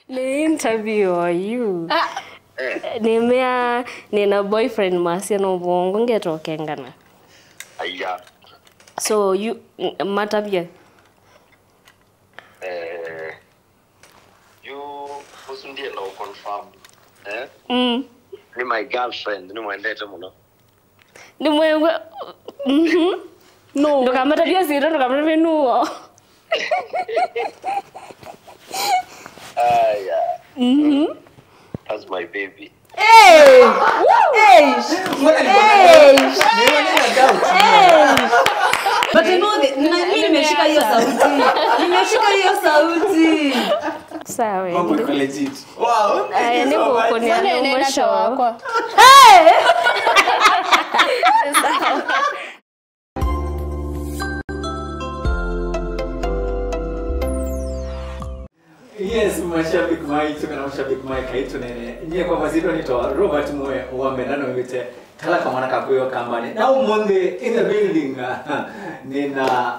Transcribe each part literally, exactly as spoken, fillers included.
Nĩ interview you. Ah. Eh. Nĩmea nĩna boyfriend masya no vongo ngetokengana. Aya. So you matavye. Eh. You ũsu ndienda ũ confirm. Eh? Mm. Nĩ my girlfriend, nĩmwendete mũno. Nĩ mwewe. Mhm. No. Ndũkamatavye sita, ndũkamatavye nuo. Aya. Mhm. That's my baby. Hey! Hey! Mbona niko na doubt? Hey! Niko na doubt. Hey! But you know the, na mimi nimeshika hiyo sauti. Nimeshika hiyo sauti. Sawa. Mambo iko legit. Wow, thank you so much. Aya, nĩngũkũnĩa. Nene na mwisho wakwa. Hey! Yes, mashabiki maitũ kana mashabiki ma Ekai Tũneene. Nyie kwa mazito nĩtawa Robert Mwe wa Mendano wĩte kala kamwana ka kwĩyo kambani. Na ũmũnthĩ in the building, nĩna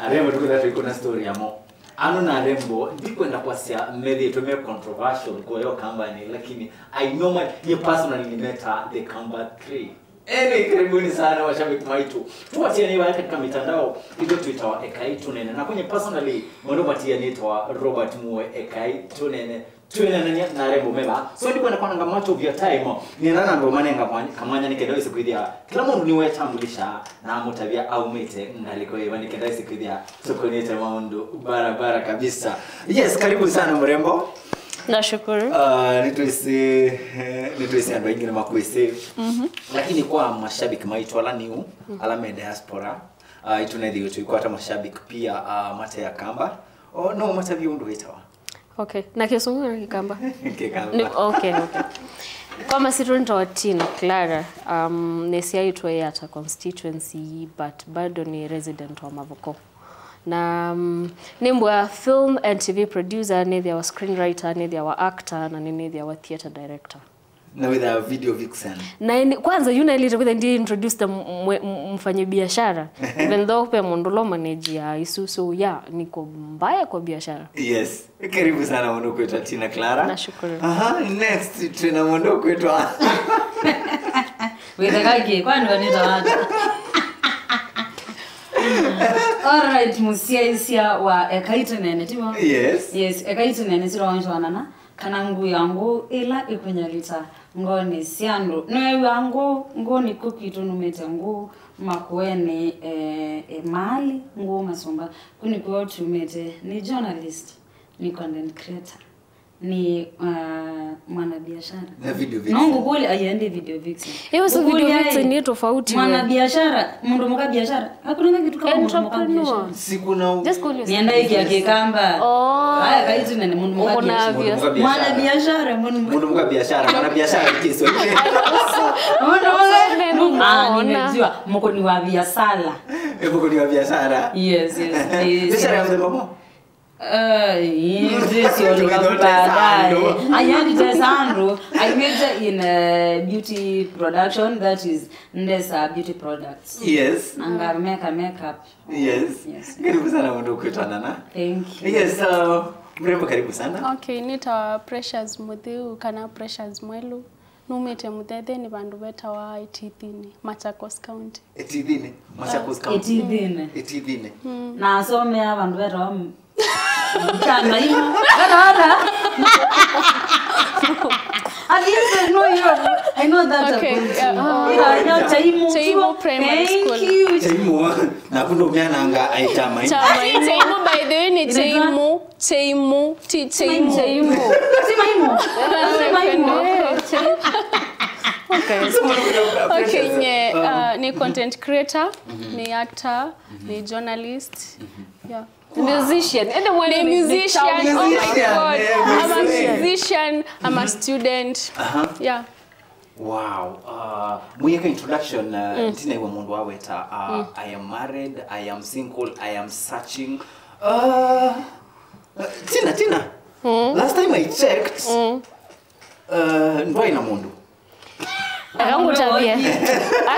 arembo tũkwĩtha tũikũna story yamo. Ano na arembo, ndikwenda kwasya methĩĩtwe me controversial kwa yo kambani, lakini I know my, nyie personally nĩmeta the Kamba three. Eni, karibuni sana mashabiki maitũ. Tuwatianĩe vaya katika mitandao, itũ twĩtawa Ekai Tũneene. Na kwenye personally, mũndũ vatianĩtawa Robert Mwe Ekai Tũneene. Twĩneenany'a na arembo meva. So ndikwenda kwananga much of your time. Nĩna na andũ manenga mwanya, kamwanya nĩ kenda wĩse kwĩthĩa kĩla mũndũ nĩwetambulisha na amũtavya aumĩte ngalĩko ĩva nĩ kenda wĩse kwĩthĩa tũkũnĩte maũndũ barabara kabisa. Yes, karibu sana mrembo. Nashukuru. Ah, nĩtwĩsĩ, eh, nĩtwĩsĩ andũ aingĩ nĩmakwĩsĩ. Mhm. Lakini kwa mashabiki maitũ ala new, mhm, ala me diaspora, ah, itũnethĩwe tũikwata mashabiki pia, ah, mate Akamba. O, no matavye ũndũ wĩtawa? Okay. Na Kĩsũngũ kana Kĩkamba? Kĩkamba. Nĩ, okay, okay. Kwa masito nĩtawa Tina Clara, um, nĩsyaĩtwe Yatta constituency, but bado nĩ resident wa Mavuko. Na, mm, nĩmbwa film and T V producer, nĩthĩawa screenwriter, nĩthĩawa actor, na nĩnĩthĩawa theatre director. Na wĩthĩawa video vixen. Na ĩndĩ, kwanza yu naĩlĩte kwĩtha ndi introduce the mwe-, m-, mfanye biashara. Even though pe mũndũ lo manage ya isu, so yeah, niko mbaya kwa biashara. Yes. Karibu sana mũndũ kwĩtwa Tina Clara. Nashukuru. Aha, next twĩna mũndũ kwĩtwa. Wĩtheka kĩ, kwani wanĩta wata? All right, mũsyaĩĩsya wa Ekai Tũneene, tiwo? Yes. Yes, Ekai Tũneene siro wancho wanana, kana ngũũ ya ngũũ ĩla ĩkũnyalĩta ngoonĩ sya andũ. Nĩwĩw'a ngũũ, ngũũ nĩkw'o kwitũ numĩte ngũũ, makũenĩ, eh, eh, maali, ngũũ masũmba, kũ nĩkw'o tumĩte, nĩ journalist, nĩ content creator. Ni, uh, mwanabiashara. Na video vixen. No ngũkũlya, ayendi video vixen. Hiyo si video vixen, ni tofauti. Mwanabiashara, mũndũ mũka biashara. Hakuna kitu kama mũndũ mũka biashara. Entrepreneur. Sikuna u- Just call yourself. Nienda iki ya Kĩkamba. Oh. Haya, Ekai Tũneene, mũndũ mũka biashara. Mũndũ mũka biashara. Mwanabiashara, mũndũ mũka biashara, mwanabiashara ni Kiswahili. Mũndũ mũka. Ah, nimejua. Mũkũni wa biashara. Eh, mũkũni wa biashara. Yes, yes, yes. Biashara ya mzee mama. Eh, ĩĩ, ndĩsyoka baadaye. Ayanditesa andũ. I major in, uh, beauty production, that is, ndesa beauty products. Yes. Anga meka makeup. Yes. Yes. Karibu sana mũndũ kwĩtwa Nana. Thank you. Yes, uh, mrembo, karibu sana. Okay, nĩtawa Precious Mũthiu kana Precious Mwelu. Numĩte Mũthetheni vandũ vetawa Ĩtithinĩ, Machakos County. Ĩtithinĩ? Machakos County. Ĩtithinĩ. Ĩtithinĩ. Mm. Na asomea vandũ vetawa m-, Chamaimu. Vetawa ata? At least I know you. I know that. Okay, yeah, uh, yeah, yeah, Chaimu. Chaimu Primary School. Thank you. Chaimu, naku ndũmyananga ai Chamaimu. Chamaimu. Chaimu, by the way, ni Chaimu. Chaimu, ti Chaimu. Chaimu. Si Maimu. Si Maimu. Okay. So, what about your, uh, professions? Okay, nye, uh, ni content creator, ni actor, ni journalist. Yeah. Musician. Ende mwana ni musician. Oh my God. Yeah, I'm a musician. I'm a student. Uh-huh. Yeah. Wow. Uh, mũyeka introduction, uh, ntinaiwa mũndũ waweta, uh, I am married, I am single, I am searching. Uh, uh, Tina, Tina. Last time I checked, uh, ndwaĩ na mũndũ. Akangũtavye.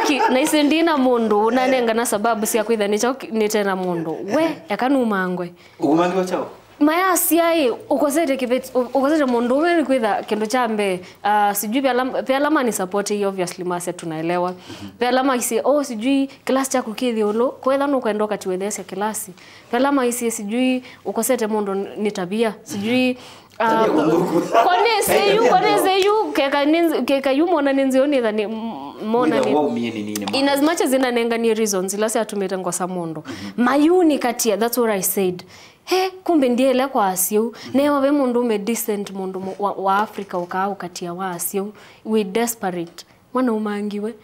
Aki, naisĩ ndi na mũndũ, nanengana sababu sya kwĩtha nĩkyo nĩte na mũndũ. We, eka numangwe. Ũkũmangĩwa kyaũ? Mayasya ĩ, ũkosete kĩveti, ũ-, ũkosete mũndũ ũmwe nĩ kwĩtha kĩndũ kya mbee, ah, sijui ve ala, ve ala mani support ĩ, obviously masya tunaelewa. Ve ala maisye, "Oh, sijui kĩlasi kyaku kĩ ĩũlũ, kwetha nũkwenda ũkatiwe theesya kĩlasi." Ve ala maisye, "Sijui ũkosete mũndũ nĩ tabia, sijui, ah, konĩsĩ yu, konĩsĩ yu, keka nĩ nz-, keka yu mona nĩ nzeo nĩtha nĩ, m-, mona nĩ." In as much as inanenganie reasons ila syatumĩte ngosa mũndũ. Mayunikatia, that's what I said. He, kumbe ndiele kwa asyau. Newa ve mũndũ ũme decent, mũndũ mũ-, wa, wa Africa ũkaa ũkatia wa asyau. We desperate. Mwana umangiwe.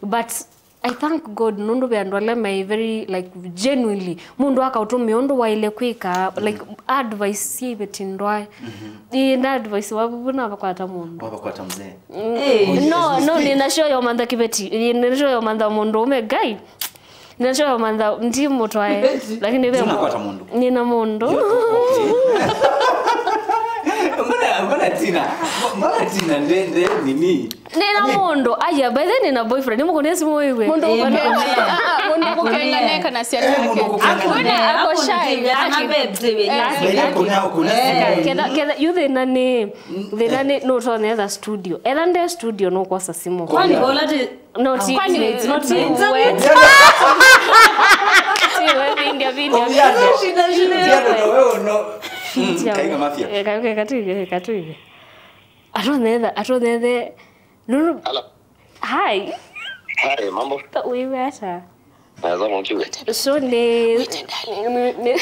But I thank God nũndũ ve andũ ala me very, like, genuinely. Mũndũ akaũtũmĩa ũndũ waile kwĩka, like, advice syĩ iveti ndwae. Ĩĩ, na advice wavuvu navakwata mũndũ. Wavakwata mzee. Mm. No, no, nina show ya mantha kiveti. Nina show ya mantha mũndũ ũme guy. Nina show ya mantha ndi mũtwae. Lakini ve Unakwata mũndũ? Nina mũndũ. Mbona, mbona Tina? Mbona Tina nde, nde nini? Nina mũndũ. Aya, by the way, nina boyfriend. Nĩ mũkũnĩa simu wewe. Mũndũ Eh, ũkũnĩa. Ah, ah, mũndũ kũkenganeka na ciana yake. Mũndũ kũkenganeka. Hakuna, ako shy. Ana babes, eh, Aki- By the way, kũnĩa, kũnĩa simu. Ketha, ketha, yu thĩna nĩ, thĩna nĩ, no ũtonetha studio. Etha nde studio no kwosa simu. Kwani bola ti No, ti, Kwani ti, ti, ti, ti, ti, we. Ti we, vindia, vindia, vindia. Shida, shida. Ndio, no, wewe, no. Tia. Kaiga mafia. Eh, ka-, ka-, katuige, katuige. Atonetha, atonethe. No, no. Hello. Hi. Hi, mambo? Ta uiwe ata? Naweza mkiwe. So, ni, ni, ni,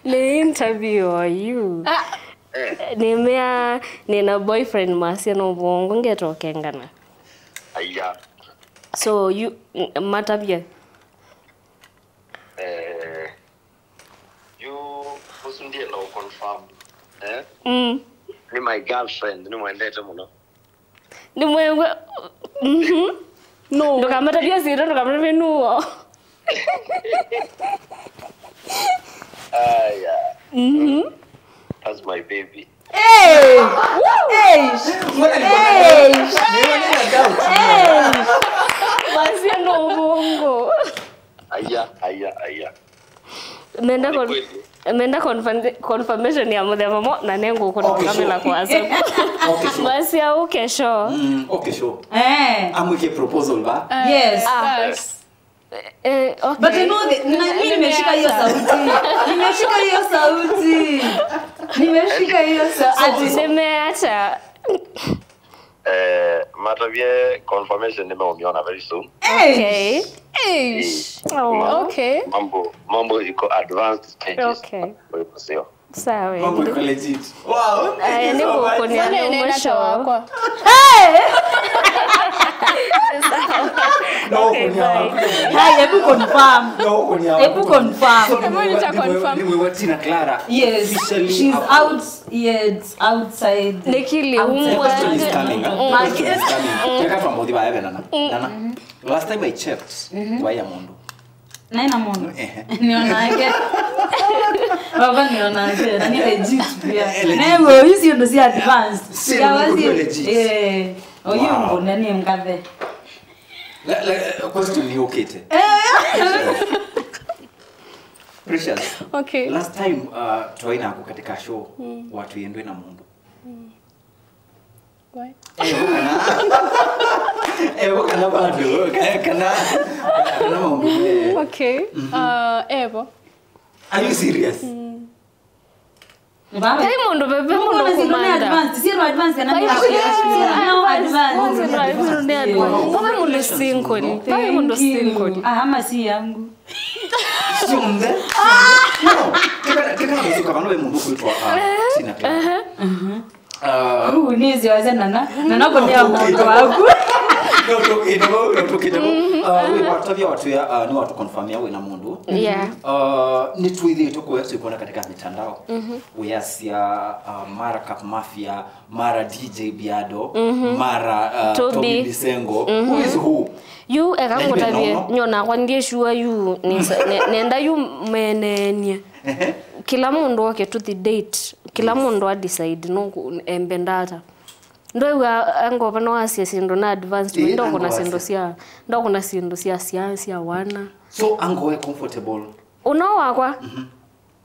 ni interview or you? Ah. Eh. Nimea, nina boyfriend masya no bongo ngetokengana. Aya. So, you, m-, matavye. Eh, yu, ũsu ndienda ũconfirm. Eh? Mm. Nĩ my girlfriend, nĩmwendete mũno. Nĩmwĩw'a. Mhm. No. Ndũkamatavye sitũ, ndũkamatavye nuo. Aya. Mhm. That's my baby. Hey! Hey! Hey! Hey! Masya no bongo. Aya, aya, aya. Menda Ni con-, kweli. Menda confirm-, confirmation ya mũthemba mo, na nengũkũnũngamĩla Okay, sure. Kwa asaku. Okay, sure. Masya ũke show. Mm, okay, sure. Eh. Amwĩke proposal ba. Yes. Ah. Yes. Eh, okay. But you know, the, na, mimi nimeshika hiyo sauti. Nimeshika hiyo sauti. Nimeshika hiyo sauti. Ati nimeacha. Eh, matavye confirmation nimeũmĩona very soon. Okay. Eish. Oh, okay. Mambo, mambo iko advanced stages. Okay. Kwa hivyo sio. Sawa. Mambo iko legit. Wow, thank you so much. Aya, nĩngũkũnĩa nĩ ũmwe show. Hey! No, okay, bye. Hai, hebu confirm. No, hebu confirm. So, hebu nita confirm. Ni wewe Tina Clara. Yes, officially she's out, yes, outside. Nikili outside. Umwa. The question is coming, huh? Mm. The question is coming. Teka pamoja baya nana. Nana. Last time I checked, waya mũndũ. Naĩ na mũndũ. Ehe. Nĩonake. Baba nĩonake. Na nĩ legit pia. Eh, legit. Newe, hizi ndo si advanced. Si, ya wazi legit. Eh, oyu. Wow. Mbona ni mkathe? La, la, question yũkĩte. Eh. Precious. Okay. Last time, uh, twaina ako katika show, watu yendwe na mũndũ. Why? Evo kana, evo kana bado, ka-, kana, kana maũndũ me. Okay. Uh, evo. Are you serious? Vai mũndũ veve mũndũ kũmantha. Advance, sio advance kana ni advance. Vai mũndũ nĩ advance. Vai mũndũ single. Vai mũndũ single. Aha, masi yangu. Sio mzee. No. Teka, teka, teka, vano ve mũndũ kwitwa, ah, Tina Clara. Aha. Aha. Ah. Huu ni ziwaze nana. Nana kũnĩa mũndũ waku. No, tũkĩte vau, no, tũkĩte vau. Ah, we watavya watu ya, ah, nĩ watu confirm ya we na mũndũ. Yeah. Ah, nĩ tuithi tukuwe tukuona katika mitandao. Wĩasya, ah, mara Cap Mafia, mara D J Biado, mara, ah, Toby. Toby Bisengo. Who is who? Yu eka ngũtavye, nyona kwa ndiĩ sure yu, nĩsa-, ne-, nenda yu menenie. Ehe. Kĩla mũndũ oke tũthi date, kĩla mũndũ a decide no ku-, embenda ata. Ndwĩw'a angova no asya syĩndũ na advanced, ĩĩ, ndokũna syĩndũ sya, ndokũna syĩndũ sya, sya, sya wana. So ango we comfortable? Ũno wakwa? Mhm.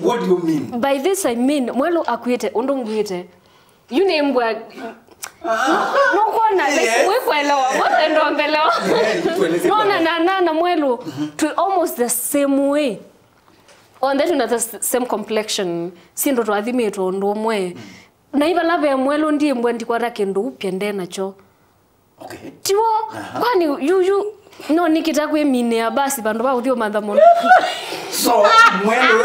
What do you mean? By this I mean, Mwelu akuĩte ũndũ nguĩte. Yu nĩ mbwa. Nũkwona, like, Yes. Wĩkwelewa, mbona ndombelewa? Yeah, tueleze Nona bwana. Na, na, na Mwelu, twi almost the same way. Onthe twina the s- same complexion, syĩndũ twathimĩtwe ũndũ ũmwe. Na ivala ve Mwelu ndimbwa ndikwata kĩndũ upya nde nakyo. Okay. Tiwo, kwani yu, yu, no nikita kwĩminĩa basi vandũ va ũthi ũmantha mũno. So, Mwelu.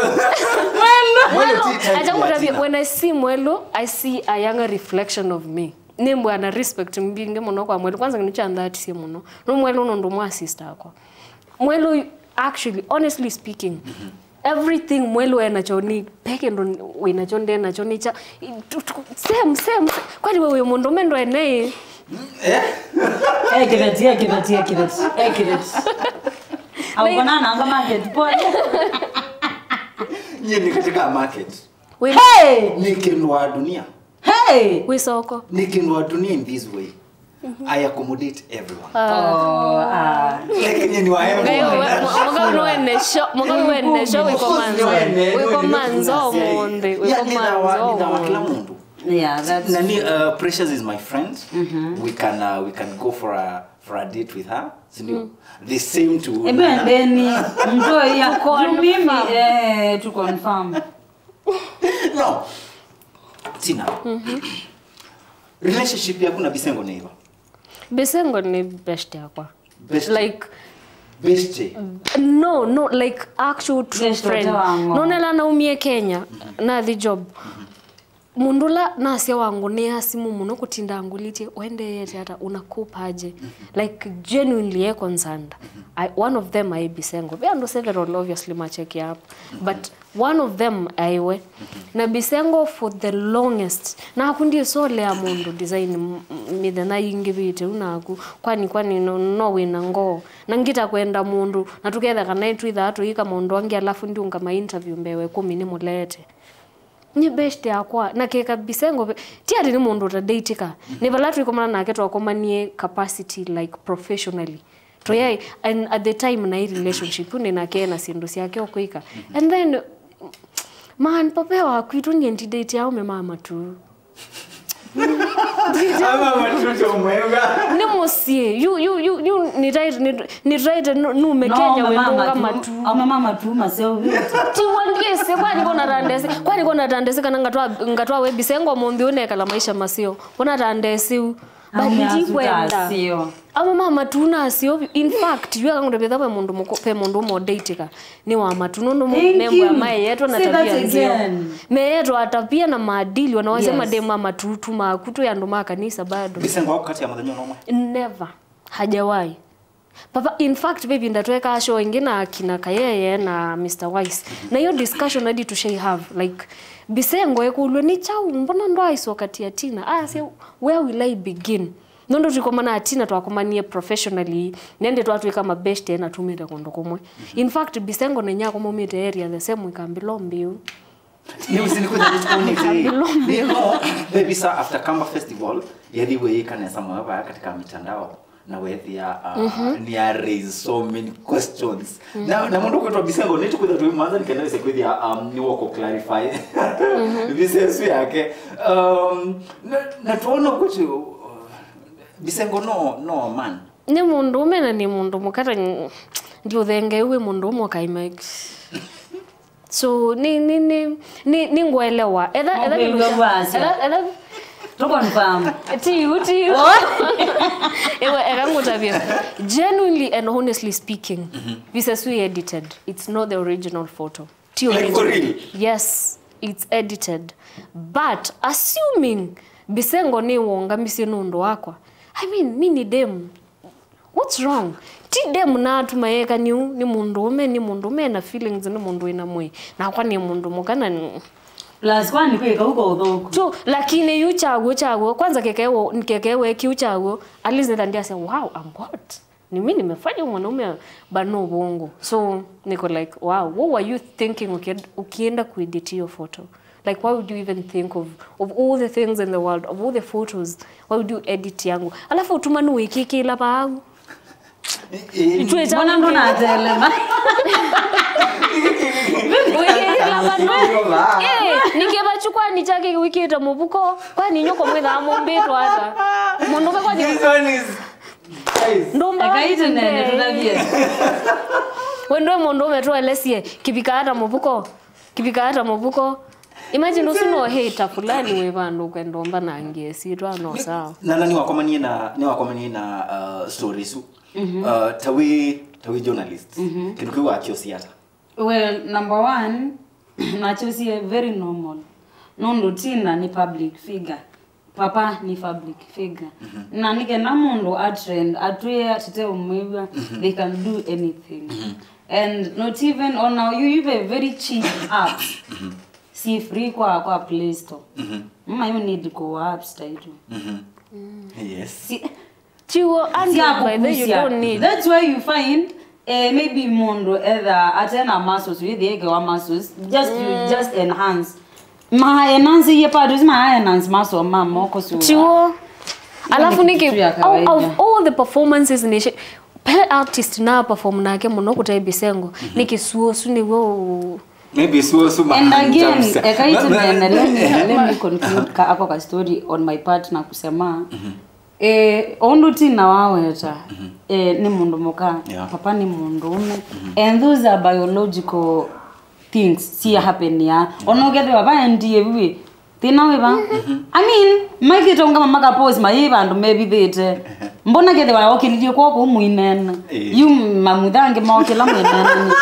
Mwelu ti type Acha ya ngũtavye, Tina. When I see Mwelu, I see a younger reflection of me. Nĩ mbwana respect mbingĩ mũno kwa Mwelu. Kwanza nĩkyo andhatisye mũno. No Mwelu nũndũ mwa sister akwa. Mwelu, actually, honestly speaking, everything Mwelu enakyo nĩ, pe kĩndũ wĩnakyo ndenakyo nĩ kya, tu- tu- same, same, same. Kwani we wĩ mũndũ mendo ene? Eh, kĩveti, eh, kĩveti, eh, kĩveti, eh, kĩveti. Au kona nanga market pole. Nyie nĩ katika market. Wĩ Hey! Nĩ kĩndũ wa dunia. Hey! Wĩ soko. Nĩ kĩndũ wa dunia in this way. I accommodate everyone. Oh, ah. Like nyie nĩ wa Ngai, everyone. we- mwa- mwaka ũyũ wene sho, mwaka ũyũ wene sho, wĩkomanzo, wĩkomanzo mũndĩ, wĩkomanzo Nĩ wa kila mũndĩ. Mũndũ. Yeah, that's Nani, uh, Precious is my friend. We can, uh, we can go for a, for a date with her. Sindio? The same to Ebe ndeni mtoya mimi, eh, to confirm. No. Tina. Relationship yaku na Bisengo nĩ ĩva? Bisengo nĩ best yakwa. Best. Like, Best. No, no, like, actual true Best friend. Wangu. Nonela naumie Kenya, nathi job. Mũndũ ũla nasya wangũnĩa simũ mũno kũtinda angũlĩtye, "Ũendeete ata, unakupaje?" Like, genuinely e concerned. I, one of them aĩ Bisengo. Ve andũ several obviously macheki up. But one of them aĩ we. Na Bisengo for the longest. Naku ndisolea mũndũ design m- m- mĩthenya yingĩvĩte u naku. Kwani, kwani no, no wĩna ngoo. Na ngita kwenda mũndũ. Na tũketha kana twĩthaa tũyĩka maũndũ angĩ alafu ndiũngama interview mbee wa ĩkũmi nĩ mũlete. Nĩ best yakwa, na keka Bisengo ve- ti atĩ nĩ mũndũ ũtadeitĩka. Nĩ vala twĩkomana nake twakomanie capacity, like, professionally. Tũyaĩ, and at the time naĩ relationship, nĩ nake na syĩndũ syake ũkwĩka. And then, man, Popea wa kwitũ niĩ ndidate aume ma matu. Ama matuto mwega. Nĩ mũsyĩ, yu, yu, yu, yu, nĩ tight, nĩ, nĩ tight, nu- nume Kenya wĩndũnga matu. Aume mama tu maseo vita. Tiwa ndiĩsĩ, kwani kona tandesi, kwani kona tandesi kana ngatwa, ngatwa we Bisengo mũnthi ũnekala maisha maseo. Kona tandesi u. But ndikwenda. Aume mama tu nasio. In fact, yu akangũta vetha ve mũndũ mũko, ve mũndũ ũmwe ũdeitĩka. Nĩ wa matu, nũndũ Thank nembwa you. Mayetwa na Say that tabia nzeo. Again. Mayetwa tabia na maadili, wanawasya Yes. Mademu ma matu tu maku twĩ andũ ma kanisa bado. Bisengo waku kati ya mũthenya ũmwe. Never. Hajawahi. Papa, in fact, baby, ndatweka show ĩngĩ na akina Kayeye na Mister Wise. Na hiyo discussion hadi tushai have, like, Bisengo ekũlwe nĩ chau, mbona ndo aiso kati ya Tina? Ah, say, where will I begin? Nũndũ tũikomana na Tina twakomanie professionally, nende twatwĩka mabeshte na tumĩte kũndũ kũmwe. In fact, Bisengo na inyakwa maumĩte area the same, Ikambilo mbiu. Nĩ usinikũja nĩtukonete. Baby, sa after Kamba Festival, yethi wĩĩka nesa mwe vaya katika mitandao. Na wethia, uh, ni a raise so many questions. Na, na mũndũ kwĩtwa Bisengo, nĩtũkwĩtha twĩ mwanza nĩkenda wĩse kwĩthia, um, nĩ woko clarify. Bisengo yake. Um, na, na tuona kuti, uh, Bisengo no, no man. Nĩ mũndũũme na nĩ mũndũ mũka, ta ndiũthengee wĩ mũndũũme ũkaima. So, nĩ, nĩ, nĩ, nĩ, nĩ ngũelewa. Etha, etha, Mũkũigua wasya. Etha, etha, To confirm. Ti yu, ti yu. Ewe, eka ngũtavye. Genuinely and honestly speaking, this is we edited. It's not the original photo. Ti Like, for original. Real? Yes, it's edited. But assuming Bisengo nĩ wongamisye nũndũ wakwa, I mean, mi ni dem. What's wrong? Ti dem natuma yeka nĩu, nĩ mũndũũme, nĩ mũndũũme na feelings, nĩ mũndũ wĩna mwĩĩ. Nakwa nĩ mũndũ mũka na nĩ- Plus, kwani kwĩka uko ũthũku? Tu, lakini yu chagwo, chagwo. Kwanza kekewo, kekewe kiu chagwo. At least nenda ndiasya, "Wow, I'm hot. Ni mimi nimefanya mwanaume bano bongo." So, niko like, "Wow, what were you thinking ukienda, ukienda kuedit hiyo photo?" Like, why would you even think of, of all the things in the world, of all the photos, why would you edit yangu? Alafu ũtuma nĩ wĩkĩkĩla vau. Itwe mbona ndo natelema? Wĩkĩkĩla vau. Nĩ kyake wĩkĩte mũvuko, kwani inyuĩ kũmwĩthaa mũmbĩtwa ata? Mũndũũme kwani This one is, guys. Ndũmba Ekai tũnene tũtavye. We ndwe mũndũũme tũelesie, kĩvikaa ta mũvuko, kĩvikaa ta mũvuko. Imagine ũsu no hĩta fulani wĩ vandũ ũkwenda ũmbanangie syĩtwa no sawa. Na na nĩwakomanie na nĩwakomanie na uh, story isu. Uh, ta wĩ ta wĩ journalist. Kĩndũ kĩu wakyosi ata? Well, number one, nakyosie very normal. Nũndũ Tina nĩ public figure. Papa nĩ public figure. Na nĩ kenda mũndũ atrend, atwĩe atete ũmwĩw'a, they can do anything. And not even on our, you even very cheap apps. Si free kwa kwa Play Store. Mama, you need go apps title. Yes. Si, Chiwo andũ by the you don't need. That's why you find eh, maybe mũndũ etha atena muscles, wĩthĩekewa muscles, just you just enhance. Ma enhance ye part, ma enhance muscle ma moko so. Chiwo. Alafu niki out of all the performances ni pe artist na perform nake mũno kũte bisengo niki suo su ni wo. Maybe suo su ma. And again, ekaitũ nene, let me, let me conclude ka ako ka story on my part na kusema. Eh, ũndũ Tina waweta, eh, nĩ mũndũ mũka, yeah, papa nĩ mũndũũme. And those are biological things si happen ya. Ona ũkethĩwa vaendie viwĩ, thĩna wĩva? I mean, maikĩte ũngama makapose mayĩ vandũ mevithĩte. Mbona kethĩwa okĩlilye kwoko mũinena? Eh. Yu mamuthange maokĩla mũinena nĩkĩ?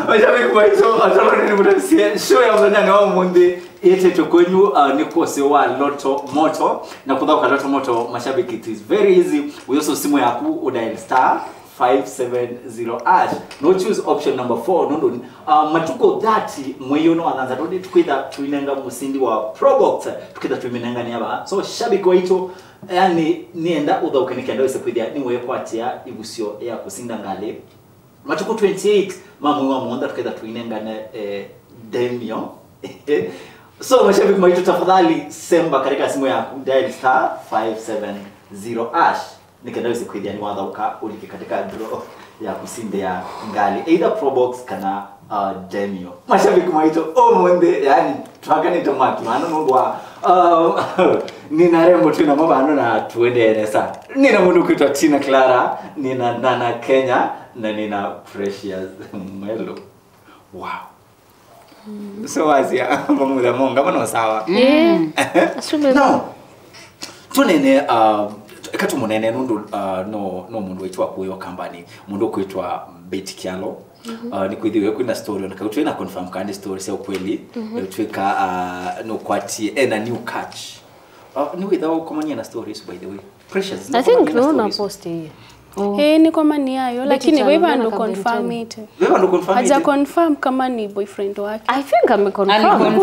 Mashabiki maitũ, atoro nĩ mũtasie show ya mũthenya wa ũmũnthĩ. Ĩtĩtwe kwenyu, uh, nĩ kwosi wa Loto Moto. Na kũthaũka Loto Moto, mashabiki, it is very easy. Ũyosa simu yaku, ũdial star five seven zero hash. No choose option number four. Nũndũ uh, matukũ thirty mwei ũno wa thanthatũ nĩ twĩtha tũinenga mũsindi wa Probox. Tũkĩtha tũiminengania vaa. So, shabiki waitũ, yani, nĩenda ũthaũke nĩ kenda wĩse kwĩthĩa nĩwekwatĩa ĩvusyo ya kũsinda ngalĩ. Matukũ twenty-eight ma mwei wa mũonza tũketha tũinengane eh, demio. So mashabiki maitũ, tafadhali semba katika simu yaku, dial star five seven zero hash, nĩkenda wĩse kwĩthĩa nĩwathaũka ũlike katika draw ya kũsindĩa ngalĩ, either Probox kana uh, demio. Mashabiki maitũ, ũmũnthĩ yani twakanĩte mwaki vano nũndũ wa uh, nina rembo twĩ namo vano na tuendee nesa. Nina mũndũ kwĩtwa Tina Clara, nina Nana Kenya, na nina Precious Mwelo. Wow. So wasia mamutha monga mano sawa. Eh. Asume. No. Tunene uh, eka tũmũnene nũndũ uh, no no mũndũ wĩtwa kuyo kambani, mũndũ kwĩtwa Betty Kyalo. Uh, nĩ kwĩthĩwe kwĩna story ona kautwe na confirm kana nĩ story sya ukweli. Twĩka uh, no kwatie ena new catch. Uh, nĩ wĩtha ũkomania na stories, by the way. Precious. I think no na post hiyo. Eh, niko mani yayo lakini vai vandũ confirmĩte. Vai vandũ confirmĩte. Haja confirm kama ni boyfriend wake. I think ame confirm. Confirm.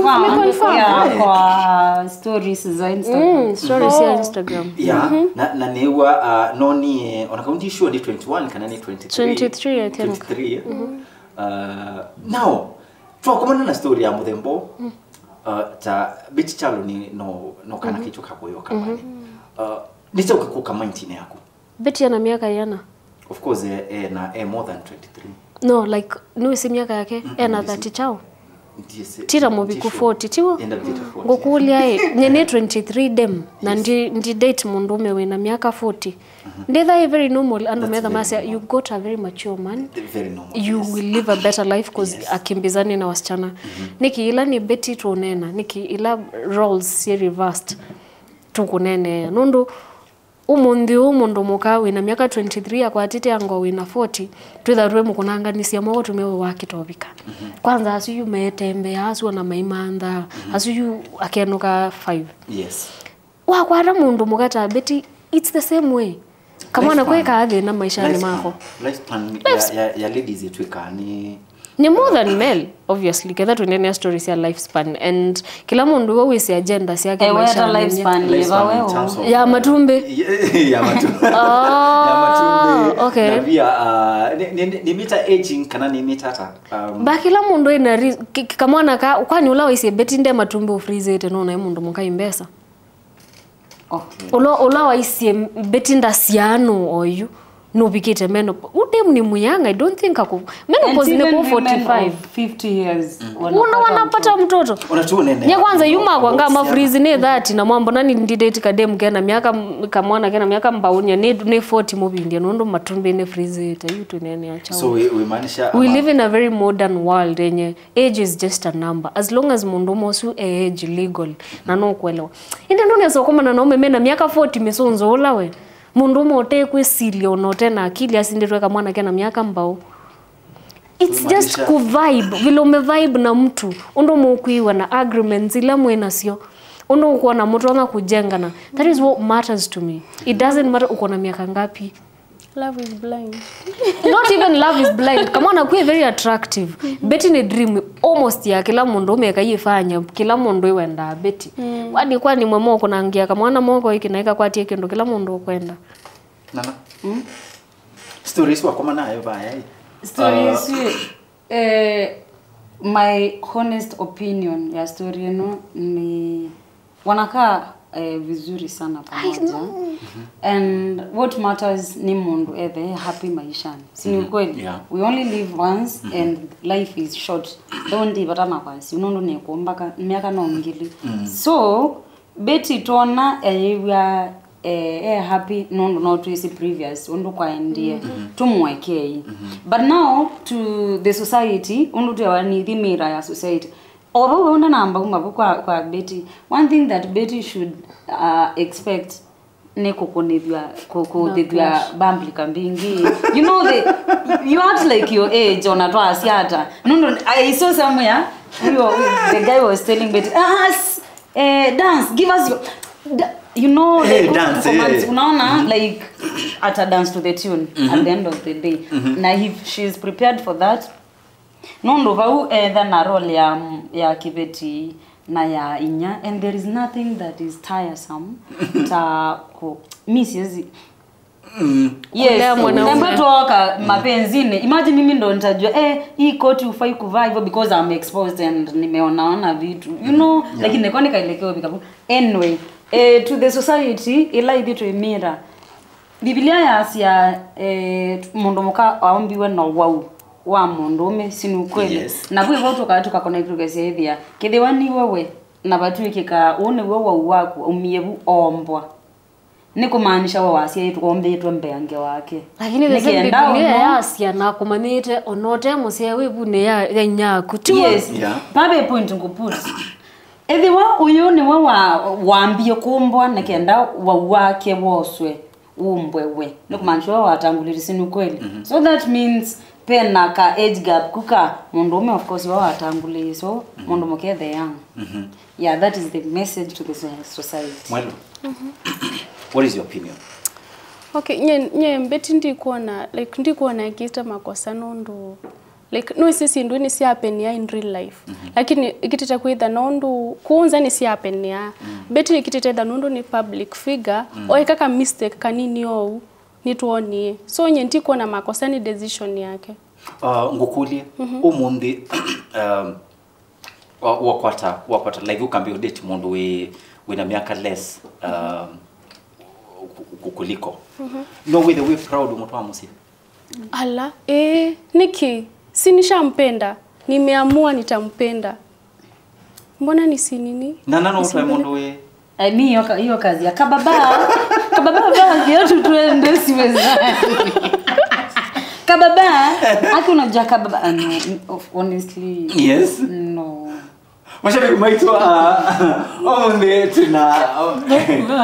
Confirm kwa stories za Instagram. Mm, stories ya Instagram. Yeah. Na na newa uh, noni ona kaunti sure ni twenty-one kana ni twenty-three. Twenty-three, I think. Twenty-three. Uh, now twakomana na story ya muthembo. Uh, ta Betty Kyalo ni no no kana kicho kakoyo kamani. Uh, nĩkyaũ kĩkũka maintine yaku? Betty ena myaka yĩana? Of course eh, eh, na eh, more than twenty-three. No, like, nĩwĩsĩ myaka yake? Mm, ena thirty chao? Tira mũviku forty, tiwo? Ngũkũlya ĩ, nye nĩ twenty-three dem na ndi, ndi date mũndũũme wĩna myaka forty. Ndĩtha ĩ very normal, andũ metha masya you got a very mature man. Very normal, you will live a better life cause akimbizani na wasichana. Nĩkĩ ila nĩ Betty tũneena, nĩkĩ ila roles syĩ reversed tũkũneenea? Nũndũ ũmũnthĩ ũũ mũndũ mũka wĩna myaka twenty-three akwatĩte ango wĩna forty, twĩtha twĩ mũkũnanganisya moko tũmeo wa kĩtovika. Kwanza asu yu meetembeaa, asu ona maimanthaa, asu yu akenũka five. Yes. Wakwata mũndũ mũka ta Betty, it's the same way. Kamwana kwĩkaa thĩna maishanĩ mako. Lifespan ya, ya, ya ladies ĩtwĩkaa nĩ Ni more than male, obviously, ketha tũnenea stories ya lifespan and kila mũndũ we wĩsĩ agenda syake. Eh, weta lifespan yĩva wewe? Ya matumbĩ. Ya matumbĩ. Oh, okay. Na pia uh, ni, ni, ni mita aging kana ni mita ata? Um, ba kila mũndũ ina kamwana ka kwani ula waisye Betty nde matumbĩ ufrizete no na mũndũ mũkai mbesa. Okay. Ula ula waisye Betty ndasiano oyu. Nũvikĩte menopause. Udem ni muyanga, I don't think ako. Menopause ni kwa forty-five. Fifty years. Una wanapata mtoto. Nye kwanza yuma kwa ngama freeze ni thirty na mwambo nani ndidate kadem kena miaka m- kamwana kena miaka mbaunya ni ni forty mubindia nundu matumbi ni freeze ita yu tunene acha. So we, we maanisha We live in a very modern world yenye age is just a number. As long as mundu mosu e age legal na no kuelewa. Inde ndunesa kumana na ume mena miaka forty misunzo ula we. Mũndũũme ũte kwĩsilya ona ũte na akili asindĩtwe kamwana kena myaka mbaũ. It's just ku vibe, vile ume vibe na mtu, ũndũ mũkwĩw'a na agreements ila mwĩ nasyo, ũndũ ũkwona mũtonya kũjengana. That is what matters to me. It doesn't matter uko na miaka ngapi. Love is blind. Not even love is blind. Kamwana kwĩ very attractive. Betty ni dream almost ya kila mũndũ ũmeka yifanya kila mũndũ iwendaa Betty. Kwani kwani mwe moko nangia kamwana moko iki na ikakwatie kindu kila mũndũ ukwenda. Nana. Stories wakoma nayo vaya. Story isu, eh, my honest opinion ya story ĩno ni wanakaa eh, vizuri sana pamoja. And what matters ni mũndũ ethe happy maishani. Si ni ukweli? Yeah. We only live once and life is short. Don't even makwasi. Nũndũ nĩ kumbaka miaka no ngili. So Betty twona eyĩw'a eh, eh, happy nũndũ no twĩsĩ previous ũndũ kwaendie tũmwekei. But now to the society ũndũ twewa ni thimira ya society. Ovo we undanamba kuma vu kwa, kwa Betty. One thing that Betty should uh, expect ni kukunithwa kukuthithwa public mbingi. You know the you act like your age ona twasiata. No, no, I saw somewhere you, the guy was telling Betty, ah, eh, dance, give us your da, you know, Eh, like, dance, comments, eh. Unaona like at a dance to the tune at the end of the day. Now if she is prepared for that, nũndũ vau etha na role ya, ya kĩveti na ya inya, and there is nothing that is tiresome ta ku mi siezi. Yes. Kulea mwanaume. Namba tuoka mapenzinĩ. Imagine mimi ndo nitajua eh hii koti ufai kuvaa hivyo because I'm exposed and nimeonaona vitu, you know, lakini niko nikaelekea vikabu. Anyway, eh, to the society ila ithi twimira. Biblia yasya eh, mũndũ mũka aombiwe na wau wa mũndũũme, si ni ukweli? Yes. Na vwĩ vau tũka tũkakona itukesia ĩthĩa kĩthĩwa niwe we na vatw'ĩkĩka ũũ nĩw'o wau waku umie vu oombwa, nĩ kũmaanisha we wasyaĩtwe oombĩtwe mbeange wake. Lakini the same Biblia yasya na kũmanyĩte ona ũte mũsyae wĩ vunĩ ya ya inya yaku tiwa? Yes. Yeah. Pape point ngũput. Ethĩwa ũyũ nĩwe wa wambie kũmbwa nĩ kenda wau wake woswe umbwe we, nĩ kũmaanisha we watangulĩri, si ni ukweli? So that means pena ka age gap kuka mũndũũme, of course, wa watangulĩi, so mũndũ mũke the young. Yeah, that is the message to the so- society. Mwelo. What is your opinion? Okay, nye nye Betty ndikuona like ndikuona ekĩte makosa nũndũ like no isi syĩndũ nĩ syapenia in real life, lakini ikitite kwitha nũndũ kũnza nĩ syapenia. Betty ikitite tha nũndũ nĩ public figure, oeka ka mistake kanini ou nĩtwonie, so nye ndikuona makosa nĩ decision yake. Uh, ngũkũlye ũmũnthĩ, um, wa- wakwata wakwata like ũkambia ũdate mũndũ wĩ wĩna myaka less, um, ku- ku- kuliko, no wĩthe wĩ proud mũtwa mũsyĩ? Ala, eh, niki? Si nishampenda, nimeamua nitampenda. Mbona nisi nini? Na nano ũtwae mũndũ wĩ I mean, hiyo ka- hiyo kazi ya kababa. Kababa, baba, viatu tuende siweza. Kababa, aki unajua kababa, ah, no, of- honestly. Yes. No. Mashabiki maitũ, uh, ũmũnthĩ tuna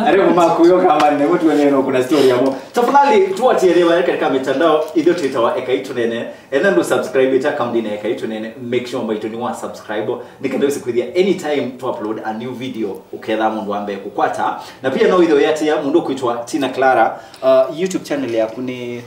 arĩmũ makuyo kama nĩ mũtu wenyewe no kuna story yamo. Tafadhali tuatie leo katika mitandao, ithuĩ twĩtawa Ekai Tũnene. Ena ndo subscribe ĩta account ĩna Ekai Tũnene, make sure mbaitũ nĩ wa subscribe nĩ kenda ũse kwĩthĩa anytime to upload a new video ũketha mũndũ ambe kũkwata. Na pia no itho yatia mũndũ kwĩtwa Tina Clara, uh, YouTube channel yaku nĩ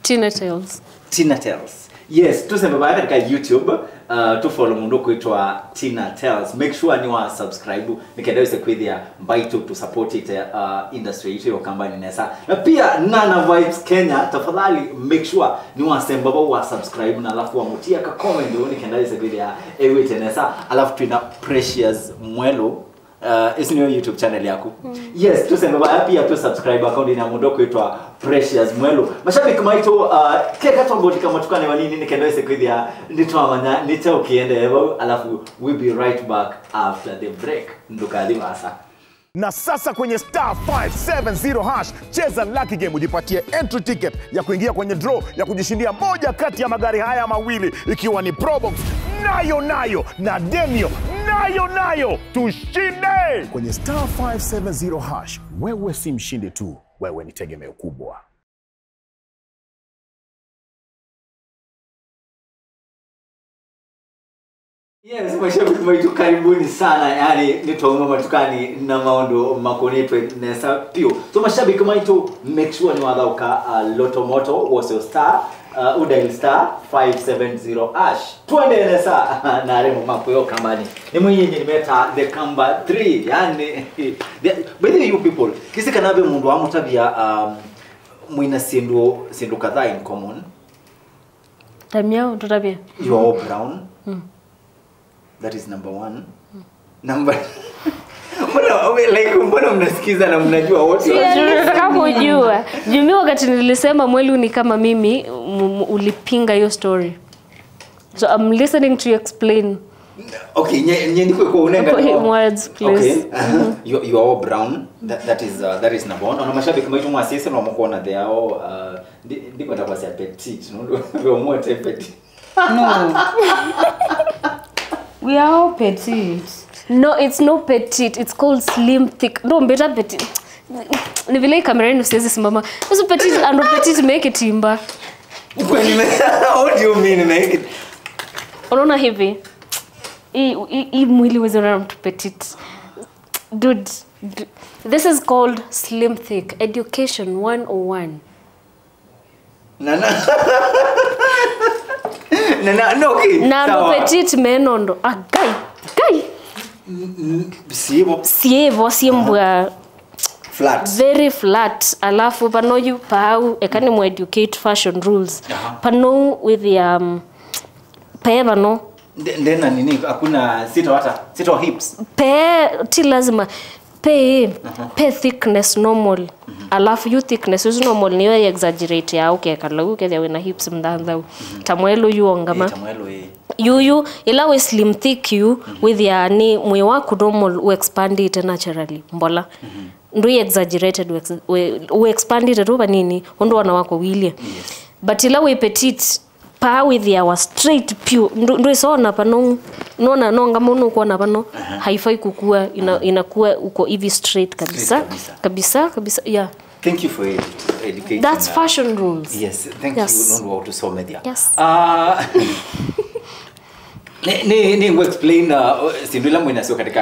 Tina Tales. Tina Tales. Yes, tusembe baya katika YouTube, uh, tu follow mũndũ kwĩtwa Tina Tales. Make sure nĩ wa subscribe nĩ kenda ũse kwĩthĩa mbaitũ tu support it, uh, industry itũ ya Ũkambanĩ nesa. Na pia Nana Vibes Kenya, tafadhali make sure nĩ wasemba vau wa subscribe na alafu wamũtia ka comment nĩ kenda ũse kwĩthĩa ewĩte nesa. Alafu twĩna Precious Mwelo. Uh, ĩsu nĩyo YouTube channel yaku. Yes, tũsembe vaya pia tũ subscribe account ya mũndũ kwĩtwa Precious Mwelu. Mashabiki maitũ, uh, keka tũmbũtika matukani manini nĩ kenda wĩse kwĩthĩa nĩtwamanya nĩkyaũ kĩendee vau, alafu we'll be right back after the break. Ndũkathi vasa. Na sasa kwenye star five seven zero hash, cheza lucky game ujipatie entry ticket ya kuingia kwenye draw ya kujishindia moja kati ya magari haya mawili, ikiwa ni Probox, nayo nayo, na Demio, nayo nayo. Tushinde! Kwenye star five seven zero hash, wewe si mshindi tu, wewe ni tegemeo kubwa. Yes, mashabiki maitũ, karibuni sana. Yani, nĩtwauma matukani na maũndũ makonetwe nesa piũ. So, mashabiki maitũ, make sure nĩwathaũka, uh, Lotto Moto, wose star, uh, udial star five seven zero hash. Twende nesa na aremo makwĩo kambani. Nĩ mwĩyĩnĩ nĩmeta the Kamba three. Yani, the, by the way, you people, kĩsĩ kana ve mũndũ wamũtavya, um, mwĩna syĩndũ, syĩndũ kadhaa in common. Tamia, tutavie. You are all brown. Mm. That is number one. Number mbona, like, mbona mnasikiza na mnajua wote? Sijui, sitaka kujua. Juu mi wakati nilisema Mwelu ni kama mimi, m-, m-, ulipinga hiyo story. So I'm listening to you explain. Okay, nye, nye niko kwa unenga. Put in words, please. Okay, uh-huh. You, you are all brown. That, that is, uh, that is number one. Ona mashabiki maitũ mwasese no mukona they are all, uh, ndi-, ndikwenda kwasya petite, no? Ndio mwote petite. No. We are all petite. No, it's no petite. It's called slim thick. No, mbeta petite. Ni vile kamera inu siwezi simama. Usu petite, ando petite make it imba. Kwani me-, what do you mean make it? Unaona hivi? Hii, hii, hii mwili huwezi ona mtu petite. Dude, du-, this is called slim thick. Education one oh one. Na, na. Na, na, no, okay. Na andũ petite mena ũndũ. Ah, guy, guy. N-, n-, sivo. Sivo, simbwa. Flat. Very flat. Alafu pano yu pau, eka nĩ mũ educate fashion rules. Aha. Pano with, um, pe pano. Nde-, ndena nini, hakuna sita hata, sita hips. Pe, ti lazima. Pe, aha, pe thickness normal. Mhm. Alafu yu thickness is normal, niyo exaggerate ya ukekala, ukethia wina hips mthanthau. Mhm. Ta Mwelu yu ongama. Eh, ta Mwelu, eh. Yu, yu, ila we slim thick yu, mhm, withia ni mwĩ waku normal, u expandite naturally, mbola. Mhm. Ndũ exaggerated, u ex-, we, u expandite tu vanini, ũndũ ona wako wilie. Yes. But ila we petite, paa wĩthĩawa straight pyu. Ndũ-, ndwĩsona pano, nona nonga mũno kuona pano, aha, haifai kukua, ina-, aha, inakuwa uko hivi straight kabisa. Straight kabisa. Kabisa, kabisa, yeah. Thank you for edu-, educating, that's, uh, fashion rules. Yes, thank you, yes, nũndũ wa ũtũsomethya. Yes. Ah, ni, ni, ni ngu explain, uh, sindu ila mwinasyo katika,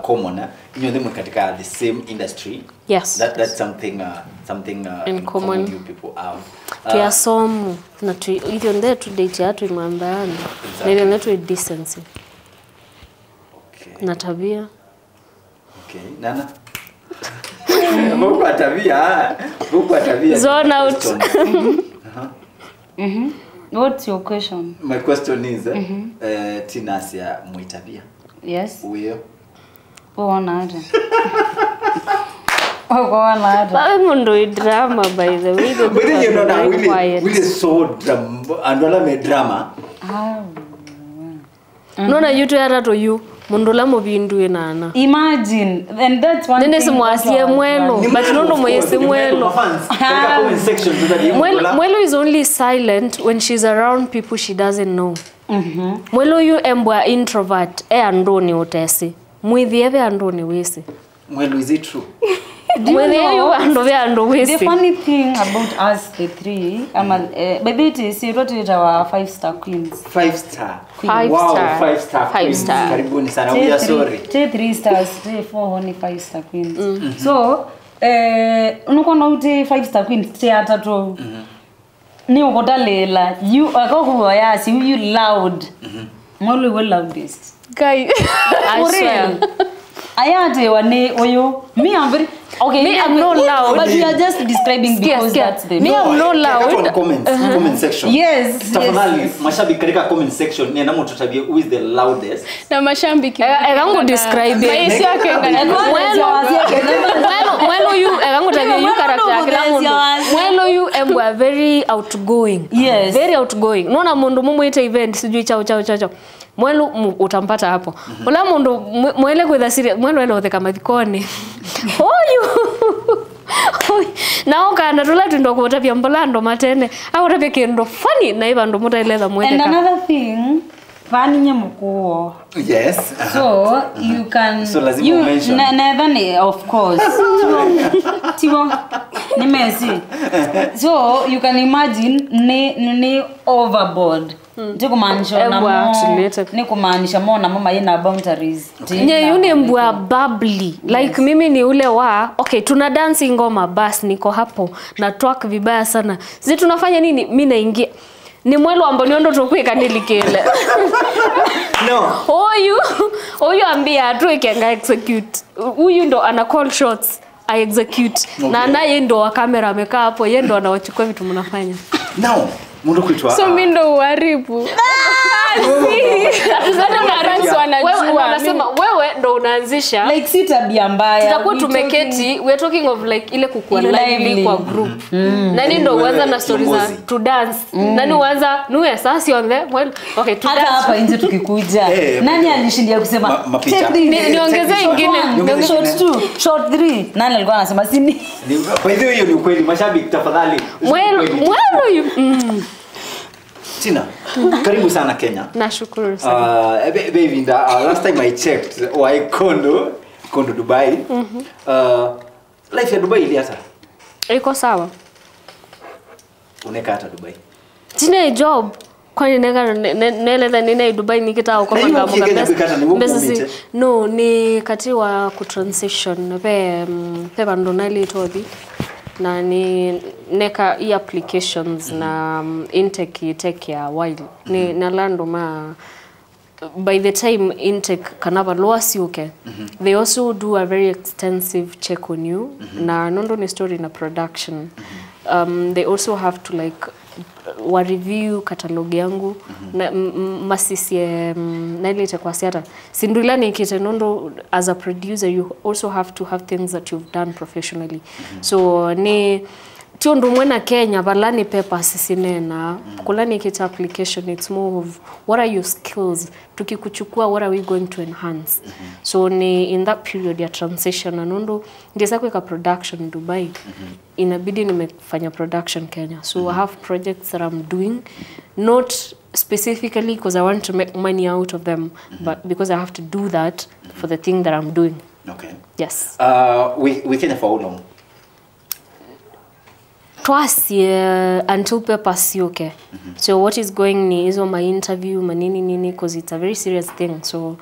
uh, common, eh? Nyonthe mwe katika the same industry. Yes. That, that's something, uh, something, uh, in, in common, common you people have. Uh, twi asomu, na twi, ithyonthe tũ date ya twi mambeani. Exactly. Na ithyonthe twi decency. Okay. Na tabia. Okay, Nana. Vau kwa tabia, vau kwa tabia. Zone out. Questions. Uh-huh. Mm-hmm. What's your question? My question is, eh, mm-hmm, eh, Tina asia mwĩ tabia. Yes. Uyo. Wona ata? Wona ata? Wawe mũndũ wĩ drama, by the way, the, but then you know that very quiet. Wili so drama, andũ ala me drama. Ah. Nona yu twi atatũ yu, mũndũ ũla mũvindu wĩ nana. Imagine, and that's one thing. Nĩnĩsĩ mwasie Mwelu, but nũndũ mwĩsĩ Mwelu. Mwelu, Mwelu is only silent when she's around people she doesn't know. Mhm. Mwelu yu embwa introvert, e andũnĩ ũtesĩ. Mwĩthĩe ve andũnĩ wĩsĩ. Mwelu, is it true? Do you know, mwĩthĩe yu andũ ve andũ wĩsĩ. The funny thing about us the three, ama, eh, by the way, twĩtawa five star queens. Five star. Queen. Five star. Wow, five star queens. Five star. Karibuni sana. We are sorry. Three, three stars, three, four, only five star queens. Mm. So, eh, unakuwa na uti five star queens, three atatũ. Mhm. Nĩ ũkũtalĩĩla, yu, akakuwa yasi, yu loud. Mhm. Mwelu iwe loudest. Guy. I swear. For real. Aya atewa nĩ ũyũ. Me, I'm very, okay, me, I'm not loud. But you are just describing because that's the... Me, I'm not loud. Comment section. Yes, yes. Tafadhali, mashabiki katika comment section, nenda mũtũtavye who is the loudest. Na mashabiki. Eka ngũ describe. Maisha yake ngana. Mwelo, mwelo yu, eka ngũtavye yu character ya kila mũndũ. Mwelo yu embwa very outgoing. Yes. Very outgoing. Nona mũndũ mumwite event, sijui chao, chao, chao, chao. Mwelu mu-, utampata hapo. Ula mũndũ mwe-, mwele kwĩtha serious, mwelu ele ũtheka mathikoni. Oyu. Oyu. Na ũkanda tũla twĩndwa kũtavya mbola andũ matene. Akũtavya kĩndũ funny na ĩva andũ mũtaeletha mwetheka. And another thing, vani nye mũkuo. Yes. So, you can... So, lazima you mention. Ne-, netha ni, of course. Tivo. Tivo. Ni mesi. So, you can imagine ni, ni, ni overboard. Ndikumaanisha ona mo, ni kumaanisha mo namo maina boundaries. Nye yu ni mbwa bubbly. Like, mimi ni ule wa, okay, tuna dance ngoma, bas, niko hapo, na twerk vibaya sana. Zi tunafanya nini? Mi naingia. Ni mwelo ambao niondo tukwika nilikile. No. Oyu, oyu ambia atuike nga execute. Huyu ndo ana call shots. I execute. Okay. Na naye ndo wa kamera amekaa hapo, ye ndo anawachukua vitu mnafanya. Now, mundu kwitwa. So mi ndo uharibu. Wewe, wewe, wewe ndo unaanzisha. Like, si tabia mbaya. Tutakuwa tumeketi, we are talking of, like, ile kukuwa lively kwa group. Nani ndo uanza na stories za to dance? Nani uanza nuwe sasi on the well. Okay, hata hapa nje tukikuja. Eh, nani alishindia kusema, take this? Ni-, niongeze ingine. Shot two, shot three. Nani alikuwa anasema sini? By the way, hiyo ni ukweli. Mashabiki, tafadhali. Mwelo, mwelo yu-, mm. Tina, karibu sana Kenya. Nashukuru sana. Uh, be-, baby, the, uh, last time I checked, wa Ikondo, Ikondo Dubai. Uh, life ya Dubai ili hata? Iko sawa. Uneka hata Dubai? Tina job. Kwani neka ne-, ne-, nelele nina i Dubai nikitaka kupanga mboga pesa. No, ni kati wa ku transition, pe, mm, pe bandu nali tothi. Na ni neka i applications na, mm, intake take a while. Ni na landu ma, by the time intake kana valua siuke, they also do a very extensive check on you. Na nondo ni story na production. Um, they also have to, like, wa review catalog yangu, na, m-, m-, masisye, mm, nailite kwa siata. Sindu ila nikite nondo as a producer, you also have to have things that you've done professionally. So, ni, ti undu umwe na Kenya, vala ni papers sinena, kula nikite application, it's more of what are your skills? Tukikuchukua, what are we going to enhance? So ni in that period ya transition, na nundu ndiesa kwika production Dubai, inabidi nimefanya production Kenya. So I have projects that I'm doing, not specifically because I want to make money out of them, but because I have to do that for the thing that I'm doing. Okay. Yes. Uh, we, we Kenya for how long? Twasie until papers siuke. So what is going ni izo ma interview manini nini, cause it's a very serious thing. So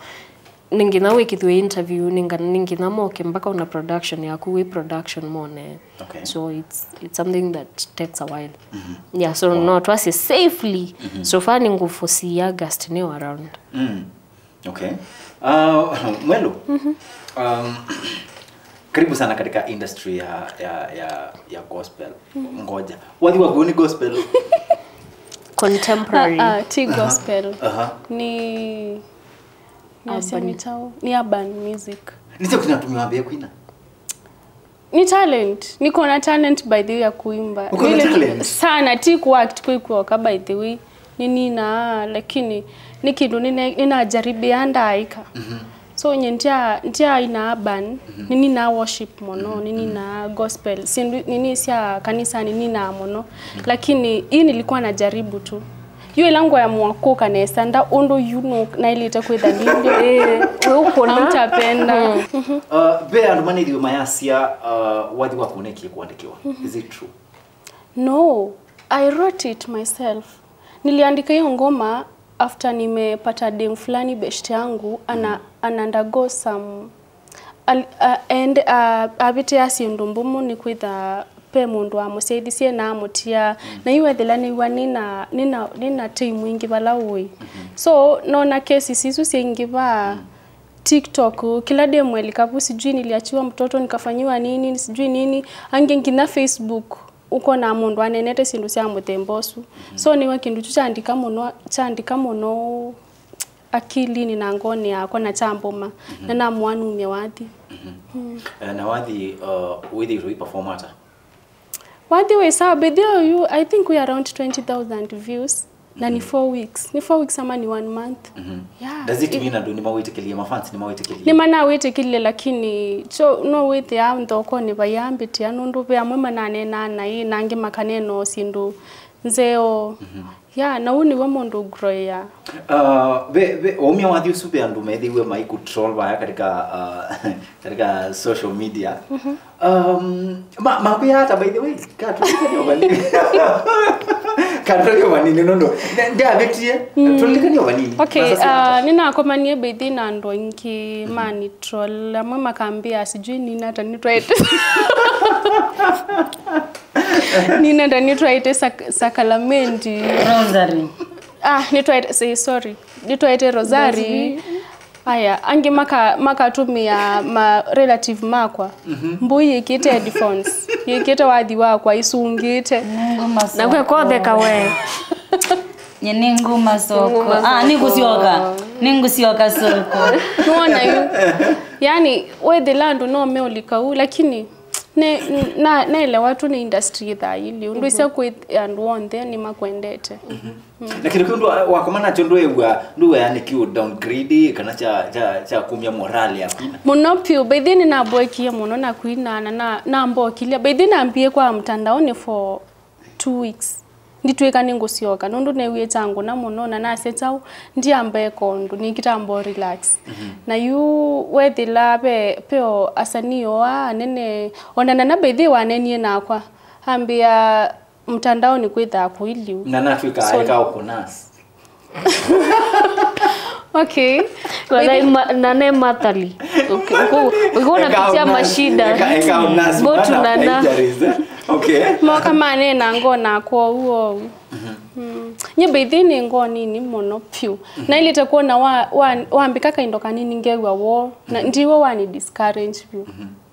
ninginya wikithwe interview, ninga-, ninginya moke mpaka una production yaku, wi production mone. Okay. So it's, it's something that takes a while. Yeah, so no, twasie safely. So far ninguforesee August niyo around. Okay. Uh, Mwelu, um, karibu sana katika industry ya, ya, ya, ya gospel. Ngoja. Wathi waku ni gospel? Contemporary. Ah, ah, ti gospel. Ni, ni urban. Ni urban music. Nise kutina tumi wambia kuina? Ni talent. Niko na talent, by the way, ya kuimba. Uko na talent? Sana, ti kuact kwikwoka, by the way. Ninina, lakini ni kindu nine-, ninajaribia ndaika. So nye ndia, ndia ina urban, ninina worship muno, ninina gospel. Sindu nini sya kanisa ninina muno. Lakini hii nilikuwa najaribu tu. Yu ila ngwamua kuka nesa, nda undu yu nu nailite kwitha ndindi. Eh, we ukona. Hautapenda. Uh, ve andu manithiwe mayasya, uh, wathi waku nekie kuandikiwa. Is it true? No, I wrote it myself. Niliandika hiyo ngoma after nimepata dem fulani beshte yangu ana, ana undergo some, al-, a-, and, a-, avitia syĩndũ mbumu nĩ kwĩtha pe mũndũ wamũsyaithisye na amũtia. Na yu ethĩla nĩw'a nĩna, nĩna, nĩna tei mwingĩ vala ũĩ. So, nona cases isu syaingĩva, TikTok, kĩla ndĩmwelika vu, sijui niliachiwa mtoto, nikafanyiwa nini, sijui nini, angĩ nginya Facebook, ũkonaa mũndũ aneenete syĩndũ sya mũthemba ũsu. So nĩwe kĩndũ kyu kyandika mũno, kyandika mũno akilinĩ na ngoonĩ yakwa na kyambũma, na namũa numye wathi. Eh, na wathi, uh, wĩthĩĩtwe ũiperform ata? Wathi wĩ sawa, by the way, you, I think we around twenty thousand views. Na ni four weeks. Ni four weeks ama ni one month? Yeah. Does it mean andũ nĩmawĩtĩkĩlĩe, mafans nĩmawĩtĩkĩlĩe? Nĩmanawĩtĩkĩlĩe, lakini kyo no wĩthĩa nthokonĩ vaiambĩtĩa, nũndũ ve amwe mananeenaa naĩ, na angĩ makaneenaa syĩndũ nzeo. Yeah, na ũu nĩw'o mũndũ ũgroea. Uh, ve, ve, waumya wathi ũsu ve andũ methĩiwe maikutroll vaya katika, uh, katika social media. Um, ma, makwĩa ata, by the way? Katũlikanie vanini. Katũlikanie vanini, no, no. Ndavĩtie. Tũlikanie vanini. Okay, uh, nĩnakomanie by the way na andũ aingĩ manitroll. Amwe makambĩa sijui nĩnata nĩtwaĩte. Nĩnata nĩtwaĩte sak-, sakalamendi. Rosary. Ah, nĩtwaĩte, say, sorry. Nĩtwaĩte rosary. Aya, angĩ maka-, makatũmĩa ma relative makwa. Mbũi yĩkĩte headphones, yĩkĩte wathi wakwa, isungĩte. Nakw'e kotheka we. Nye nĩnguma soko. Ah, nĩngũsyoka. Nĩngũsyoka soko. Nĩwona yu? Yani, wethĩla andũ no meũlika ũu, lakini ne-, na-, naelewa tu nĩ industry ĩthaili. Ũndũ ĩsya kwĩ andũ onthe nĩmakwendete. Na kĩndũ kĩu ndũ-, wakomana nakyo ndũĩw'a, ndũĩw'a nĩ kĩu downgrade kana kya, kya, kya kumya morale ya kwina? Mũno vyũ, by the way nĩnamboekie mũno na kwina, na, na nambokilya. By the way nambie kwa mtandaoni for two weeks. Nditwĩka nĩngũsyoka, nũndũ neewie kyangũna mũno, na nasya kyaũ, ndiamba eka ũndũ, nĩkĩtamba relax. Na yu wethĩla ve, veo asanii oa anene, ona Nana by the way wanenie nakwa, ambĩa, mtandaoni kwĩthaa kũiliu. Na natwĩka so, aeka ũkũnas. Okay. Wala ima-, Nana mathali. Uki-, uku-, ukiwa unapitia mashida. Eka, eka unas. Go to Nana. Okay. Moka manena ngona kwa uo. Mm. Nye by the way nĩ ngoo nini mũno piũ. Nailĩte kuona wa, wa, wambĩka kaindo kanini ngew'a woo. Na ndiwe wani discourage piũ.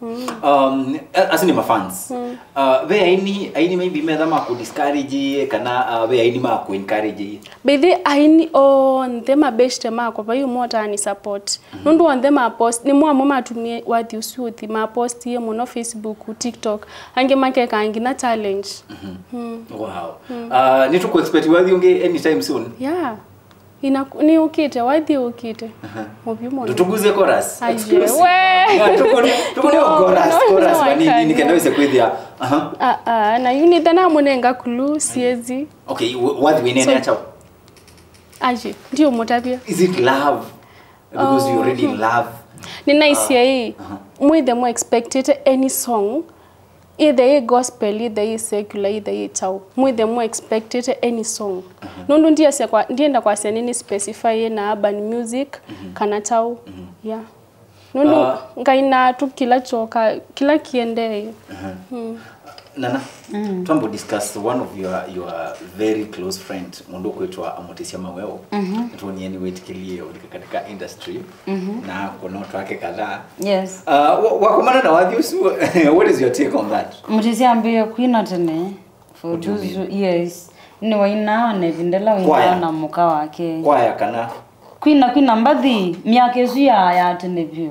Mm. Um, a-, asu nĩ mafans. Uh, ve aini, aini maybe metha ma kũdiscourage kana, uh, ve aini ma kũencourage? By the way, aini onthe mabeshte makwa vai ũmwe ũtaani support. Nũndũ onthe mapost, nĩmo amwe matumie wathi ũsu ũthi, mapostie mũno Facebook, TikTok, angĩ makeka nginya challenge. Mm. Wow. Uh, nĩtũkũexpect wathi ũngĩ anytime soon? Yeah. Ina, nĩ ũkĩte, wathi ũkĩte. Mũvyũ mũno. Tutuguze chorus. Aye, exclusive. We. Yeah, tukuni, tukuni no, chorus, no, chorus no, vanini, nikenda wese kwithia. Aha. Ah, ah, na yu nĩtha namũnenga clue, siezi. Okay, wa-, wathi wĩnene so, acha. Aje, ndio mũtavia. Is it love? Because you're already in love. Nĩnaisye ĩ, mwĩthe mũ expectĩte any song, either ĩ gospel, either ĩ secular, either ĩ kyaũ. Mwĩthe mũ expectĩte any song. Nũndũ ndiasya kwa, ndienda kwasya nĩ specify na urban music kana kyaũ. Yeah. Nũndũ ngainaa tu kĩla kyoka, kĩla kĩendee. Nana, twambe discuss one of your, your very close friend, mũndũ ũkwĩtwa Mũtĩsya Maweo. Nĩtwonie nĩwĩtĩkĩlie ũlika katika industry na kũnotwa ake kadhaa. Yes. Uh, wa-, wakomana na wathi ũsu, what is your take on that? Mũtĩsya ambĩĩe kwina tene. For those who, yes. Nĩwainaa na ĩvinda ĩla wainaa na mũka wake. Kwaya kana? Kwina, kwina mbathi, myaka ĩsu ya, ya tene vyũ.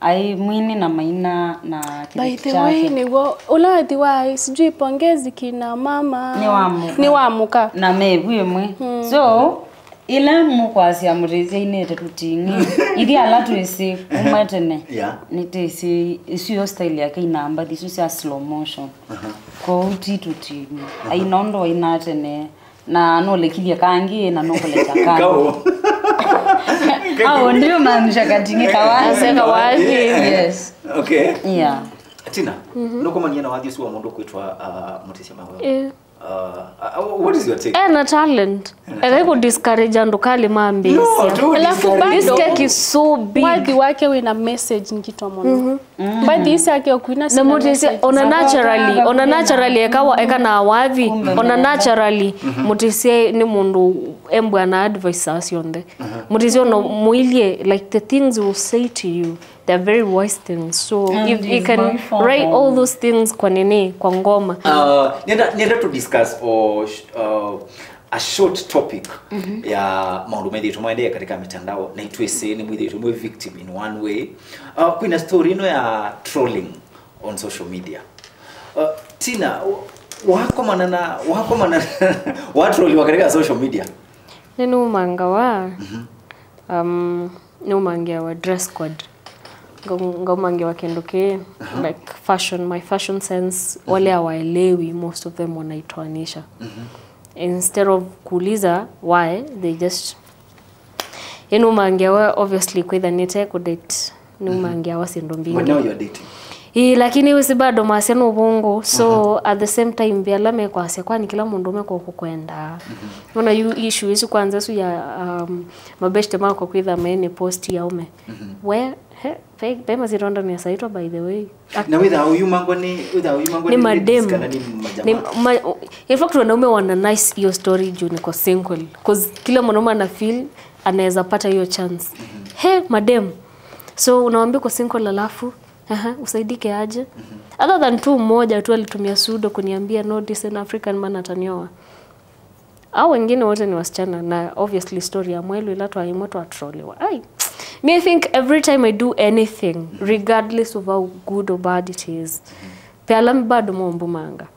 Aĩ mwini na maina na kĩveti kyake. By the way, nĩw'o ũla wathi wa sijui pongezi kina mama. Nĩ wa mũka. Nĩ wa mũka. Na mevu ĩmwe. Mm. So, ĩla mũkwasya Mũtĩsya ainĩte tũting'ĩ, ithyĩ ala twĩsĩ kuma tene, yeah, nĩtwĩsĩ ĩsu yo style yake ina mbathi isu sya slow motion. Kwoou ti tũting'ĩ. Aina ũndũ wainaa tene. Na nũlekilye kangĩ, na nũkũlekya kangĩ. Kaũ. Au ndio maanisha kating'ĩ kawathi. Ase kawathi. Yes. Okay. Yeah. Tina, nũkomanie na wathi ũsu wa mũndũ kwĩtwa, uh, Mũtĩsya Maweo? Eh. Uh, uh, what is your take? Ena talent. Ena talent. Eka ku discourage andũ kali mambĩsya. No, don't discourage. This cake is so big. Wathi wake wĩna message ngito mũno. Bathi isi ake ũkwina na mũtĩsye ona naturally, ona naturally eka wa- eka na wathi, ona naturally mũtĩsye nĩ mũndũ embwa na advice saa syonthe. Mũtĩsye ona mũilye, like, the things will say to you, they're very wise things. So if you can write all those things kwa nini, kwa ngoma. Uh, nenda nenda to discuss or sh- uh, a short topic ya maũndũ methĩĩtwe maendeea katika mitandao, na itwĩsĩ nĩ mwĩthĩĩtwe mwĩ victim in one way. Uh, kwĩna story ĩno ya trolling on social media. Uh, Tina, wakomana na wakomana watroliwa katika social media? Nĩnũmangawa. Um, nĩũmangeawa dress code. Ngau- ngaumangewa kĩndũ kĩ like fashion, my fashion sense, wale hawaelewi, most of them wanaitoanisha. Instead of kuuliza why, they just, ĩnũmangeawa obviously kwĩtha nĩte kũdate. Nĩũmangeawa syĩndũ mbingĩ. But now you're dating. Ĩĩ, lakini wĩsĩ bado masya nũvũngũ. So at the same time, ve ala mekwasya, kwani kĩla mũndũ mekwa kũkwenda. Ona yu issue isu kwanza isu ya um, mabeshte makwa kwĩtha maĩ nĩ post ya ume. We, he, ve ve masyĩtwa ndanĩsa itwa, by the way. Na wĩthaa ũyumangwa nĩ wĩthaa ũyumangwa Nĩ nĩ ladies madem. Kana nĩ Nĩ majama. ma- In fact, wanaume wana nice hiyo story juu niko single, cause kila mwanaume ana feel anaweza pata hiyo chance. He madem, so unawambia uko single alafu, aha, usaidike aje? Other than tu mmoja tu alitumia sudo kuniambia no decent African man atanioa. Au wengine wote ni wasichana, na obviously story ya Mwelu ila twaimwe twatroliwa. Ai, me, I think every time I do anything, regardless of how good or bad it is, pe ala bado mombumanga.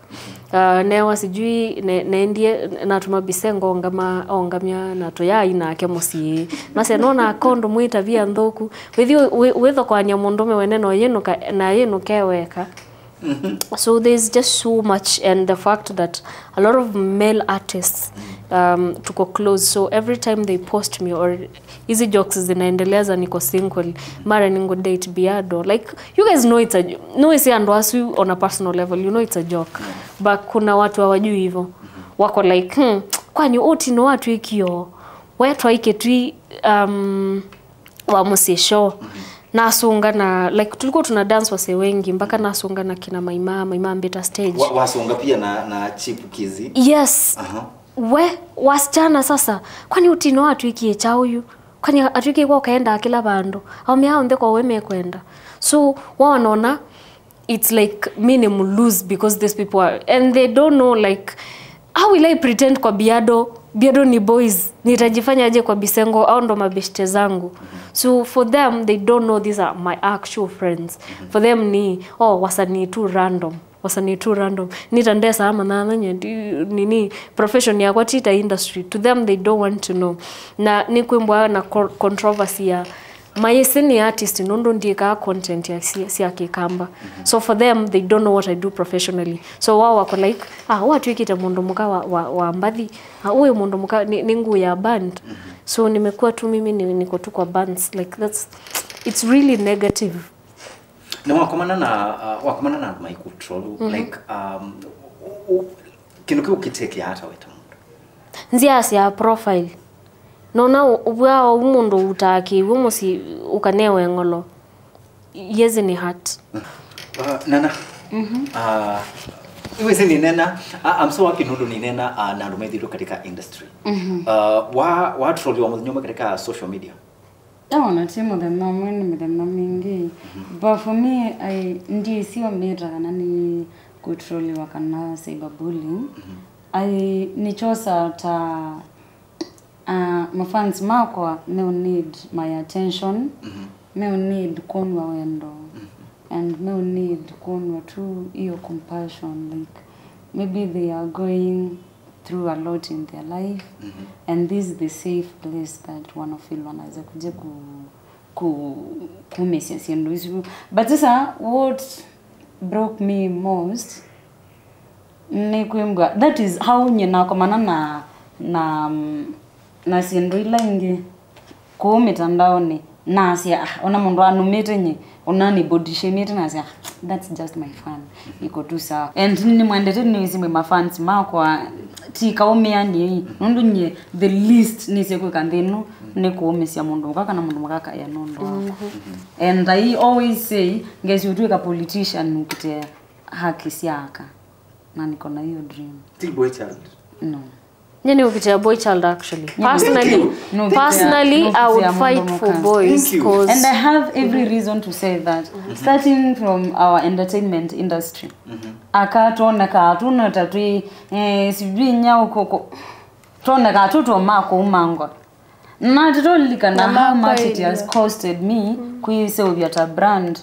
Uh, newa sijui ne, nendie natuma bisengo ongama ongamya na tuyai nake mũsyĩ. Mase nona kondo mwita via nthuku. Withi withokwanya mũndũme wene no yinuka na yinuke weka. So there's just so much, and the fact that a lot of male artists um, tuko close, so every time they post me or hizi jokes zinaendelea za niko single, mara ningo date biado, like, you guys know it's a, no, isi andũ asu on a personal level, you know it's a joke, but kuna watu hawajui hivyo, wako like, hmm, kwani ũti no atwĩkio we twaike twi um, wa mũsyĩ show. Nasunga na, like, tulikuwa tuna dance wasee wengi, mpaka nasunga na kina maima maima mbita stage. Wa- wasunga pia na, na chipukizi. Yes. Aha. We wasichana sasa, kwani ũti no atwĩkie kyaũ yu? Kwani atwĩkie kwa ũkaenda kĩla vandũ? Aũme ao onthe kwa we mekwenda. So wao wanaona it's like mi ni mlose because these people are, and they don't know, like, how will I pretend kwa biado? Biado ni boys, nitajifanyaje kwa bisengo? Au ndo mabeshte zangu. So for them, they don't know these are my actual friends. For them ni, oh, wasanii tu random, wasanii tu random. Nita ndesa ama nana nye nini, profession yakwa tita industry. To them, they don't want to know. Na ni kwimbwa na co- controversy ya maĩsĩ nĩ artist nũndũ ndiĩkaa content ya sya, sya kĩkamba. So for them, they don't know what I do professionally. So wao wako like, ah, watwĩkĩte mũndũ mũka wa, wa, wa mbathi. Ah, ũyũ mũndũ mũka nĩ, nĩ nguu ya band. So nimekuwa tu mimi ni, niko tu kwa bands, like, that's, it's really negative. Na wakomana na uh, wakomana na andũ maikutrolu, like, um, u- u- kĩndũ kĩu kĩtekea ata weta mũndũ? Nzĩa sya profile. Nona ũvw'a ũu mũndũ ũtaa kĩw'ũ mũsyĩ ũkanewe ng'olo. Yezi ni hat. Uh, nana. Uh, iwezi ninena. I- I'm so happy nũndũ ninena uh, na andũ methĩtwe katika industry. Uh, wa wa troll wa mũthenya ũmwe katika social media. Ona ti mũthenya ũmwe, nĩ mĩthenya mingĩ. But for me, I, ndiĩsĩ o mĩta kana nĩ kũtroliwa kana cyberbullying. I, nĩkyosaa ta, uh, mafans makwa meũ need my attention, meũ need kwonwa wendo, and meũ need kwonwa tu hiyo compassion, like, maybe they are going through a lot in their life, and this is the safe place that wanafeel wanaweza kuja ku, ku, kumĩsya syĩndũ isu. But sasa, what broke me most nĩ kwĩmbwa, that is how nyie nakomana na, na, na syĩndũ ila ingĩ kũu mĩtandaonĩ. Nasya, "Ah, ona mũndũ anũmĩte nye, ona nĩ body shamĩte," nasya, "Ah, that's just my fan. Iko tu sawa." And nĩmwendete nĩwĩsĩ mwĩ mafans makwa, ti kaũmĩanĩei. Nũndũ nye, the least nĩsĩ kwĩka nthĩ ĩno nĩ kũũmĩsya mũndũ mũka kana mũndũ mũka akaĩa nũndũ wakwa. And I always say, ngesi ũtwĩka politician ũkĩtea haki sya aka. Na niko na hiyo dream. Ti boy child. No. Nye nĩ ũkĩtea boy child actually. Nye nĩ Personally, nũkĩtea, personally, I would nũkĩtea fight mũndũ for mũka. Boys. Thank you. 'Cause and I have every reason to say that. Starting from our entertainment industry. Aka tuoneka, tuna ta twi, eh, sijui nyau kũkũ. Tuoneka tu tũma kũumangwa. Na tũtũlilikana how much it has costed me kwĩseũvya ta brand.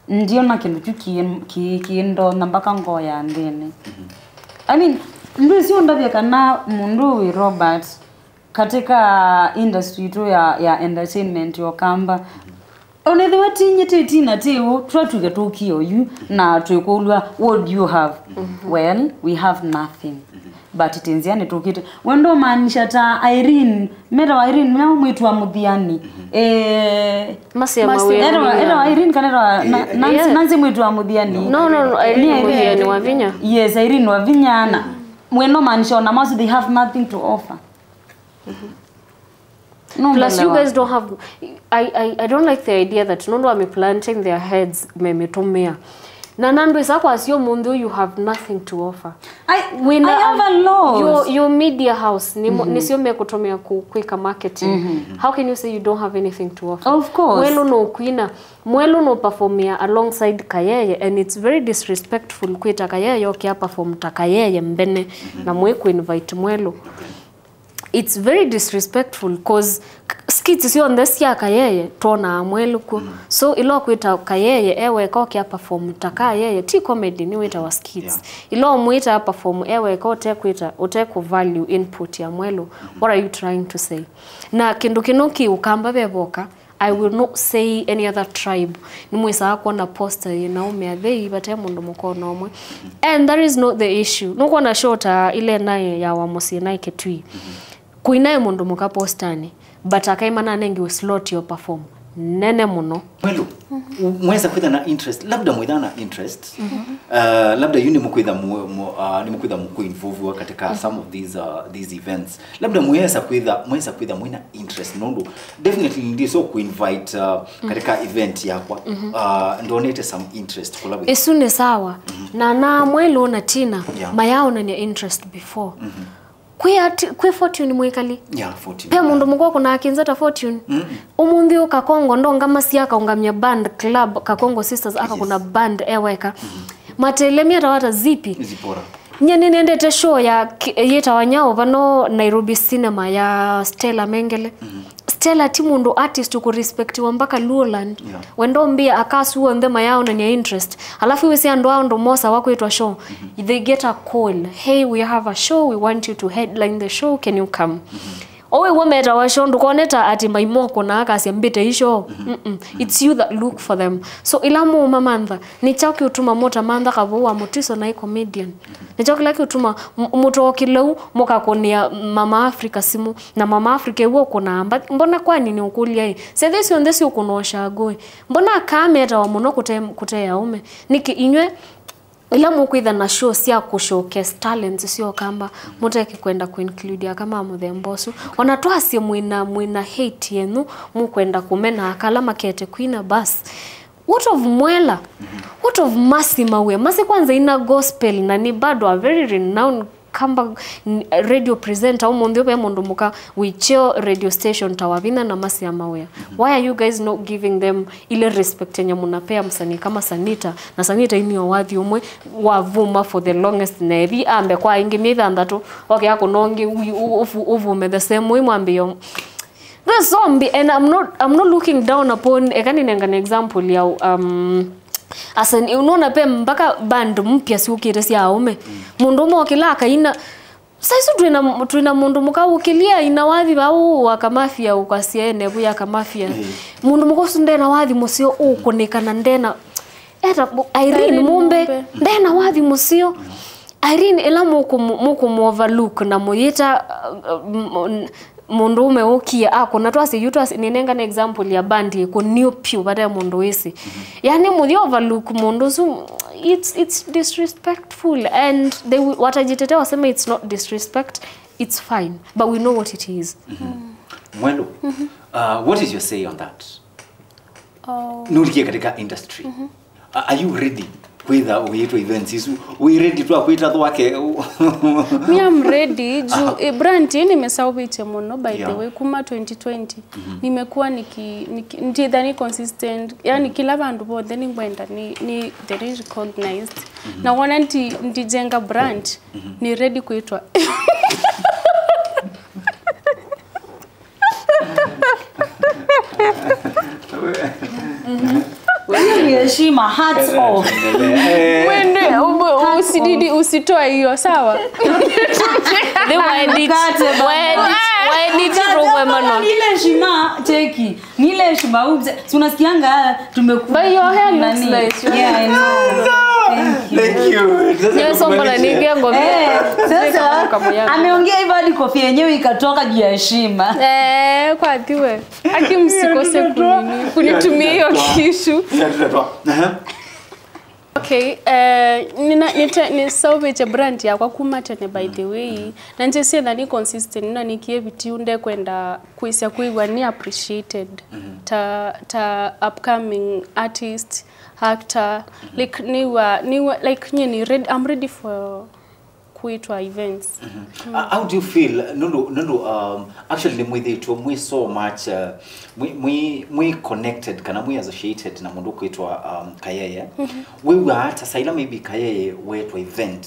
Ndiona kĩndũ kyu kĩ- kĩ- kĩndonya mpaka ngoo ya nthĩnĩ. I mean, ndwĩsĩ ũndavya kana mũndũ wĩ Robert katika industry itũ ya, ya entertainment ya Ũkamba. Onethĩwa tinyĩ tĩ tina tĩ ũ, twatuke tũkie oyu na twĩkũlw'a, "What do you have?" Well, we have nothing. But tĩ nzĩanĩ tũkĩte. Wendo maanisha ta Irene, metawa Irene, nĩwe mwĩĩtu wa Mũthiani. Eh, Masya Masya mawĩa. Etawa, etawa Irene kana etawa na- Eh, Nancy, yeah. Nancy mwĩĩtu wa Mũthiani. No, no, no, Irene Nĩ Irene. Mũthiani wa vinya. Yes, Irene wa vinya na. Wendo maanisha ona masu they have nothing to offer. No, plus you guys don't have, I, I, I don't like the idea that nũndũ ame planting their heads memĩtũmĩa. Na nandũ ĩsa kwasya ũmũnthĩ ũyũ you have nothing to offer. I, wĩna I have a lot. Your, your media house nĩmo, nĩsyo mekũtũmĩa ku- kwĩka marketing. How can you say you don't have anything to offer? Of course. Mwelũ no kwina, mwelũ no performia alongside Kayeye, and it's very disrespectful kwĩta Kayeye oke a perform ta Kayeye mbene na mwĩ ku invite mwelũ. It's very disrespectful 'cause k- skits syonthe sya Kayeye twonaa mwelũ kw'o. So ĩla ũkwĩta Kayeye e weka oke a perform ta Kayeye, ti comedy, nĩ wĩtawa skits. Ĩla ũmwĩta a perform e weka ũtekwĩta, ũtekũ value input ya mwelũ, what are you trying to say? Na kĩndũ kĩno kĩ Ũkamba ve voka, I will not say any other tribe. Nĩmwĩsaa kwona poster yĩ na ũmĩa thei vate mũndũ mũka ona ũmwe. And that is not the issue. Nũkwona show ta ile naĩ ya wa mũsyĩ naĩ Kitui. Kũinaĩ mũndũ mũka postanĩ, but akaima nanengiwe slot yo perform nene mũno. Mwelũ, u- mwesa kwĩtha na interest, labda mwĩtha na interest. Uh, labda yu nĩmũkwĩtha mu- mu- uh, nĩmũkwĩtha mũkũinvolviwa katika some of these, uh, these events. Labda mwesa kwĩtha, mwesa kwĩtha mwĩna interest nũndũ definitely ndiso kuinvite uh, katika event yakwa. Uh, ndonete some interest kula wĩ. Ĩsu nĩ sawa. Na na mwelũ na Tina, yeah, mayaonania interest before. Kwĩ ati- kwĩ Fortune mwĩkali. Yeah, Fortune. Pe mũndũ mũka ũkũnaa kĩnza ta Fortune. Ũmũnthĩ ũka Kakongo ndonga masi akaũngamya band club, Kakongo Sisters akakũna band e weka. Matelemia tawata Zipi. Zipora. Nye nĩnendete show ya ki- yĩtawa Nyau vano Nairobi Cinema ya Stella Mengele. Stella ti mũndũ artist ũkũrespectiwa mpaka Luoland. Yeah. Wendo mbia akasu onthe mayaonania interest. Alafu wĩsĩ andũ a ũndũ mosa wakwĩtwa show. They get a call. "Hey, we have a show. We want you to headline the show. Can you come?" Owe wametawa show ndũkoneta ati maimoko na akasya mbĩte isho. Mm-mm. It's you that look for them. So ila mumamantha, nĩ kyaũ kĩũtuma mũtamantha Kavũũ wa Mũtiso na ĩ comedian? Nĩ kyaũ kĩla kĩũtuma m- mũtokĩlau mũkakũnĩa Mama Africa simũ? Na Mama Africa ĩw'o ũkũnaa mba- mbona kwani nĩ ũkũlya ĩ? Syĩthĩ syonthe siũkũnaa ũshagũĩ. Mbona akaa metawa mũno kũte, kũte aũme? Nĩkĩ inyw'ĩ ila mũkwĩtha na show sya kũ showcase talents sya Ũkamba, mũteke kwenda kũ include aka ma mũthemba ũsu? Ona twasye mwĩna, mwĩna hate yenyu, mũkwenda kũmena aka ala makete kwina bas. What of Mwela? What of Mercy Mawĩa? Mercy kwanza ina gospel na ni bado a very renowned Kamba n- radio presenter. Ũmũnthĩ ve mũndũ mũka wĩ kyo radio station ta Wavinya na Mercy Mawĩa. Why are you guys not giving them ile respect yenye mnapea msanii kama Sanita? Na Sanita inio wathi ũmwe wavuma for the longest, na ethi ambe kwa ingi mĩthanthatũ, oke akũnongi u- u- uvu- uvume the same way mwambio. That's zombie, and I'm not, I'm not looking down upon, eka ninengane example ya, um, asani, unaona pe mpaka band mpya siukite sia aume. Mundu ume okila akaina. Saisu twina, twina mundu muka ukilia ina wathi vau wa kamafia, ukasia ene vu ya kamafia. Mundu muka usu ndena wathi musio ukunika na ndena. Eta bu- Irene Irene Mumbe, Mumbe. Ndena wathi musio. Irene, ila mukumu- mukumu overlook na muyita, uh, uh, m- mũndũũme ũkie akũna, twasye yu, twasye, nĩnengane example ya band ĩkũnio pyũ vate mũndũ wĩsĩ. Yani mũthi overlook mũndũ ũsu, it's, it's disrespectful, and they will, watajitetea waseme it's not disrespect, it's fine, but we know what it is. Mwelu, uh, what is your say on that? Oh. Nũlikie katika industry. A- Are you ready kwĩtha ũyĩtwa events isu? Wĩ ready twa kwĩta thwake? Me, I'm ready. Juu, eh, brand ĩĩ nĩmĩsaũvĩtye mũno, by the Yeah. way, kuma twenty twenty. Nimekuwa niki, niki, nditha ni consistent. Yani kila vandu vonthe nĩngwenda ni, ni the recognized. Na wona ndi, ndijenga brand, ni ready kwĩtwa. Hiyo ni heshima, hats off. Wende, ubu- usididi, usitoe hiyo, sawa? They were edit. Mkate baba. Were edit. Were edit. Rogwe mano. Ni ile heshima, cheki. Ni ile heshima, huyu mzee. Si unasikianga tumekuwa But your hair looks nani? Nice. Your Yeah, I know. Thank you. Thank you. Sasa Nyewe sombona tukumalishe. nige ngombe. Eh, sasa Kama yangu. Ameongea hivyo hadi kofia yenyewe ikatoka juu ya heshima. Eh, kwathiwe. Aki msikose kunini, kunitumia hiyo kishu. Sasa tutatoa. Aha. Okay, eh, nina, nite, nisaũvĩtye brand yakwa kuma tene, by the way. Na njĩsie na ni consistent, na nikie vitiu ndekwenda kwĩsya kwĩw'a ni appreciated. Ta, ta upcoming artist, actor, like, niwa, niwa, like, nye ni ready, I'm ready for kwĩtwa events. Uh, how do you feel? Nũndũ, nũndũ, um, actually nĩ mwĩthĩtwe mwĩ so much, uh, mwĩ, mwĩ, mwĩ connected kana mwĩ associated na mũndũ kwĩtwa, um, Kayeye. Wĩw'aa ata saila maybe Kayeye wetwa event,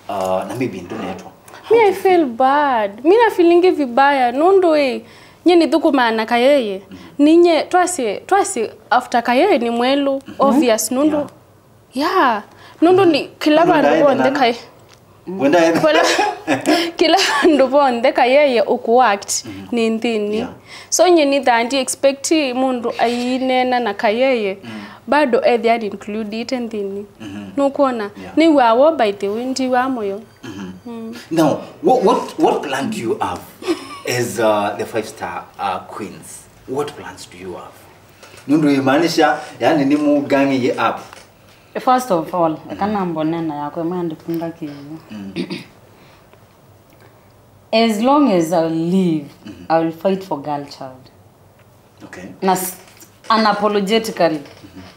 uh, na maybe ndũnetwa? Me, I feel bad. Mi na feelingi vibaya nũndũ ĩ, nye nĩthũkũmaa na Kayeye. Ninye twasye, twasye after Kayeye nĩ Mwelu, obvious nũndũ. Yeah. Yeah. Nũndũ nĩ kĩla Nũndũ vandũ ndaĩ vonthe na- Kaye. Wenda Kĩla, kĩla andũ vonthe Kayeye ũkũact nĩ nthĩnĩ. Yeah. So nye nĩthaa ndi expect mũndũ aineena na Kayeye bado ethĩa included nthĩnĩ. Nũkwona? Yeah. Nĩw'aa wo, by the way, ndiw'aa mũyo. Now, what, what, what plan do you have as, uh, the five star, uh, queens? What plans do you have? Nũndũ imaanisha, yani, nĩ mũgang'ie up. First of all, kana mbonena yakwa ĩmwe andikunda kĩu. As long as I live, I will fight for girl child. Okay. Na s- unapologetically,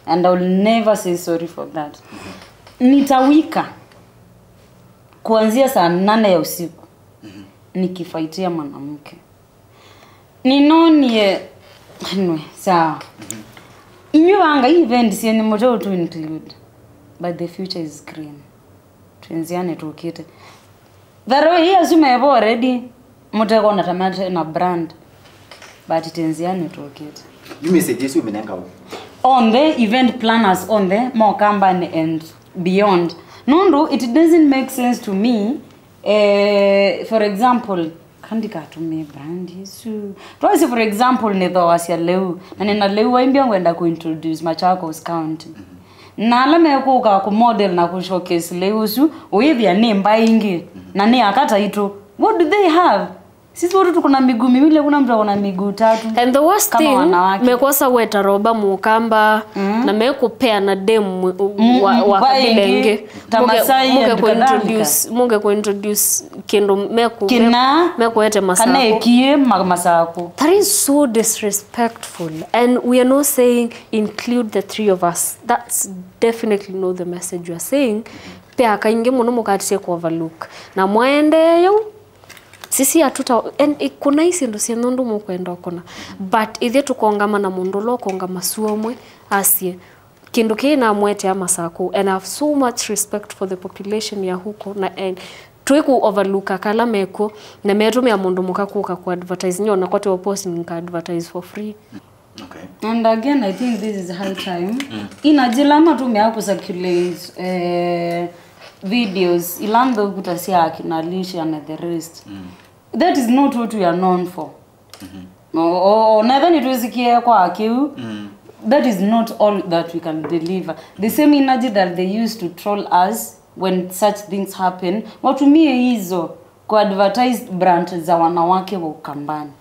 and I will never say sorry for that. Nitawika kuanzia saa nane ya usiku nikifaitia mwanamke. Ninonie, anyway, sawa. Inyu vanga event syenyu mũteu to include, but the future is green. Twĩ nzĩanĩ tũkĩte. Thero ĩĩ asu mevo already, mũtekona ta mate na brand, but twĩ nzĩanĩ tũkĩte. Yu message ĩsu ũmĩnenga ũ? On the event planners on the Mokambani and beyond. Nũndũ it doesn't make sense to me, eh, for example, kandikatũmĩe brand ĩsu. Twasye, for example, nĩthooasya lĩu, na nĩna lĩu waimbya ngwenda kũintroduce Machakos County. Na ala mekũka kũmodel na kũshowcase lĩu ũsu, ũyĩthĩa nĩ mbaĩ ingĩ, na nĩ aka taitũ. What do they have? Sisi wote tuko na miguu miwili, hakuna mtu ako na miguu tatu. And the worst Kama thing, wanawake. Mekosa weta Roba Mũkamba, na mekũpeana dem mwe- wa, wa mbaĩ kabila ingĩ, ĩngĩ. ta Masai and Mũke kuintroduce, mũke kuintroduce kĩndũ meku- Kĩna, mekuete kana Masako. Ĩkie ma- Masako. That is so disrespectful, and we are not saying include the three of us. That's definitely not the message we are saying. Pea kaingĩ mũno mũkatie ku overlook na mwaendee yau. Sisi hatuta, and i- kuna isi ndo sia nũndũ mũkwenda ũkona, but ithe tũkongama na mũndũ ũla ũkongama suo ũmwe asie kĩndũ kĩĩ namwetea Masako, and I have so much respect for the population ya huko na, and twĩ ku overlook kala mekuo, na metũmĩa mũndũ mũka kũka ku advertise, nyona kote wa post nika advertise for free. Okay. And again, I think this is high time. Ina njĩla matũmĩa ku circulate, eh, videos ila nthũku ta sya akina Alicia na the rest. That is not what we are known for. O- o- o- na ethwa nĩtwĩsikie kwa kĩu, that is not all that we can deliver. The same energy that they used to troll us when such things happen, watumie hizo ku advertise brand za wanawake wa Ukambani.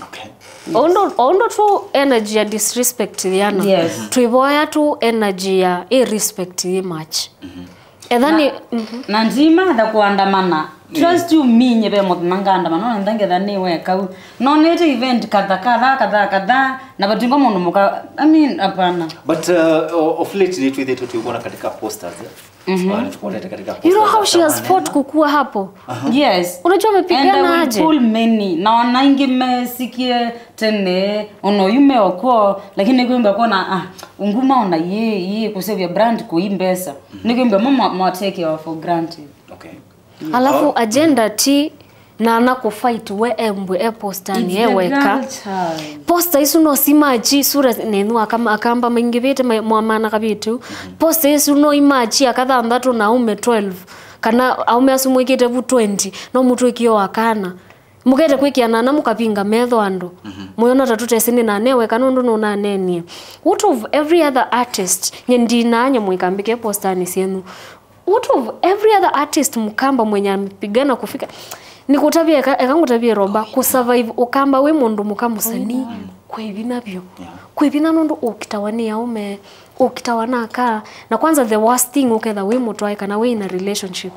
Okay. Ondo ondo tu energy ya disrespect yana. Yes. Tuivoya tu energy ya i respect i match. Etha ni Na ndimatha kuandamana. Trust you me, nye ve mũthenya ngaandamana, no ngetha nĩ weka u. No nĩte event kadha kadha kadha kadha na vatingo mũndũ mũka. I mean, hapana. But uh, o- of late nĩtwĩthĩtwe tũiwona katika posters eh? Uh, nĩtũkuonete katika You know posters how za she has maneno. Fought kukua hapo. Yes. Unajua And amepigana I will aje? Pull many. Na ona aingĩ mesikie tene, ona oyu meokuo, lakini nĩkwĩmbĩa kuona ah, unguma ona yĩ yĩ kusevya brand kui mbesa. Nĩkwĩmbĩa mo mwa take off for granted. Okay. Alafu agenda ti nana kufight we embwe e postani It's e the weka. Girl child. Posta isu no simachi sura nenyu akamba maingivite mwamana kavitu. Posta isu no imachi akathanthatu na aume twelve kana aume asu mwikite vu twenty no mutwikio akana. Mukete kwikia nana mukavinga metho andu. Muyona ta tutesi ni nane weka nundu nunanenie. What of every other artist? Nye ndinanye mwikambike postani sienu. What of every other artist mkamba mwenye amepigana kufika? Nikutavia eka, eka ngutavie Roba, kusurvive ukamba wi mundu muka musanii kwi vinya vyu. Kwi vinya nundu ukitawa ni aume, ukitawa na aka. Na kwanza the worst thing uketha wi mutwae kana wi in a relationship.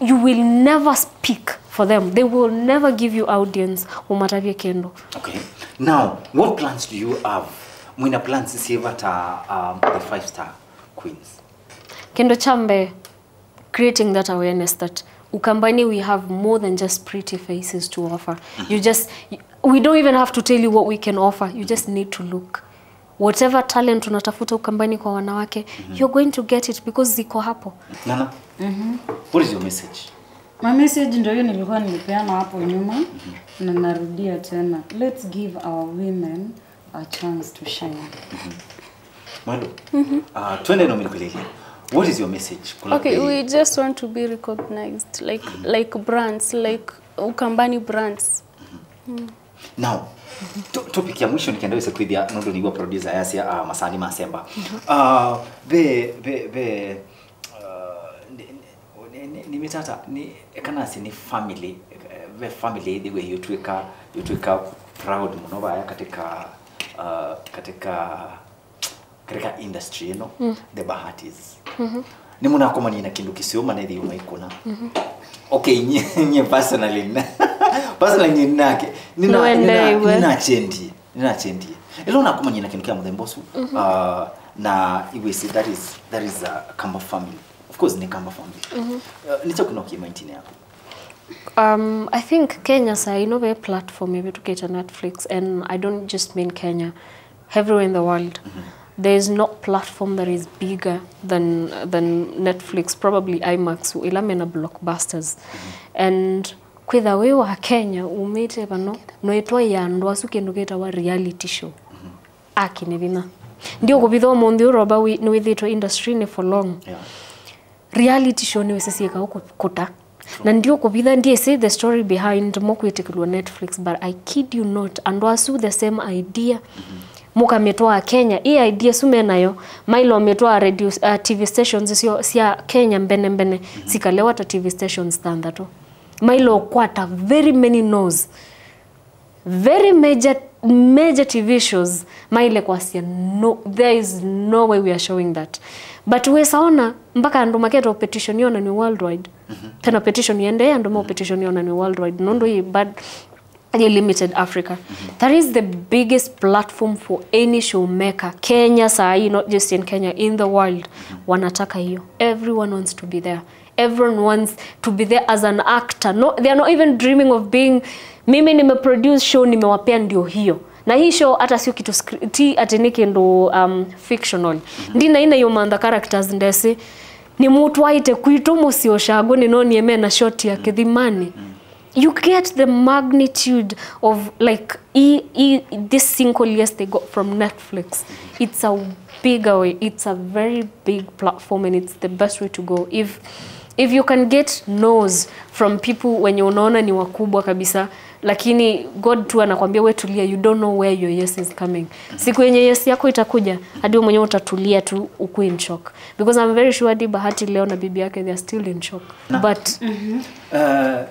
You will never speak for them. They will never give you audience umatavie kindu. Okay. Now, what plans do you have? Mwina plans sieva ta um, the five star queens. Kindu cha mbee, creating that awareness that Ukambani we have more than just pretty faces to offer. You just, we don't even have to tell you what we can offer. You just need to look. Whatever talent unatafuta Ukambani kwa wanawake, you're going to get it because ziko hapo. Nana, what is your message? My message ndio hiyo nilikuwa nimepeana hapo nyuma na narudia tena. Let's give our women a chance to shine. Mwendo, uh, twende no mikulilia. What is your message? Kula Okay, pili. We just want to be recognized like like brands, like Ukambani brands. Now, to- topic ya mwisho nikenda wese kwithia nundu niwa producer yasya uh, masani masemba. Uh, ve ve ve uh, ni- ni- ni- ni mitata ni ekanasi ni family eh, ve family ithiwe yutwika yutwika proud muno vaya katika uh, katika katika industry ino, the Bahatis. Nĩmũnakomanie na kĩndũ kĩseo manethi ũmaikũna? Okay, nye nye personally na- personally nye nake nina Nĩwendeeiwe. Nina chendi nina chendi ĩla ũnakomanie na kĩndũ kĩa mũthemba ũsu uh, na iwĩsĩ that is that is a Kamba family, of course nĩ Kamba family. Uh, nĩkyo kĩno kĩ mindini yako? Um, I think Kenya saa ino ve platform ĩvĩtũkĩte Netflix, and I don't just mean Kenya, everywhere in the world. There is no platform that is bigger than than Netflix, probably IMAX, ila mena blockbusters. And kwĩtha wĩ wa Kenya umĩte vano, noĩtwa ya andũ asu kĩndũ kĩtawa reality show. Akine vinya. Ndiũkũvitha ũmũnthĩ ũroba nĩwĩthĩtwe industry-inĩ for long. Yeah. Reality show nĩwĩsĩ syĩka ũkũta. Na ndiũkũvitha, ndiĩsĩ the story behind mo kwĩtĩkĩlwa Netflix, but I kid you not, andũ asu the same idea mũkamĩtwaa Kenya. Ĩ idea su menayo mailomĩtwaa radio, uh, TV stations syo sya Kenya mbene mbene, sikalewa ta TV stations thanthatũ. Mailokwata very many no's, very major major TV shows, maile kwasya no, there is no way we are showing that. But wĩsaona mpaka andũ maketwa petition yonanwe worldwide. Pena petition yendee andũ mo petition yonanwe worldwide nũndũ yĩ bad, yĩ limited Africa. That is the biggest platform for any show maker. Kenya saa hii, not just in Kenya, in the world, wanataka hiyo. Everyone wants to be there. Everyone wants to be there as an actor. No, they are not even dreaming of being, mimi nimeproduce show, nimewapea ndio hiyo. Na hii show hata sio kitu scr- ti ati ni kindu um, fictional. Ndina ina yo mantha characters ndesi. Ni mutu aite kwitu musi oshago ni noni emena shot ya Kithimani. You get the magnitude of like e, e, this single yes they got from Netflix. It's a bigger way. It's a very big platform and it's the best way to go. If if you can get no's from people wenye unaona ni wakubwa kabisa, lakini God tu anakwambia we tulia, you don't know where your yes is coming. Siku yenye yes yako itakuja, hadi wewe mwenyewe utatulia tu, uko in shock. Because I'm very sure hadi Bahati leo na bibi yake they are still in shock. But Uh,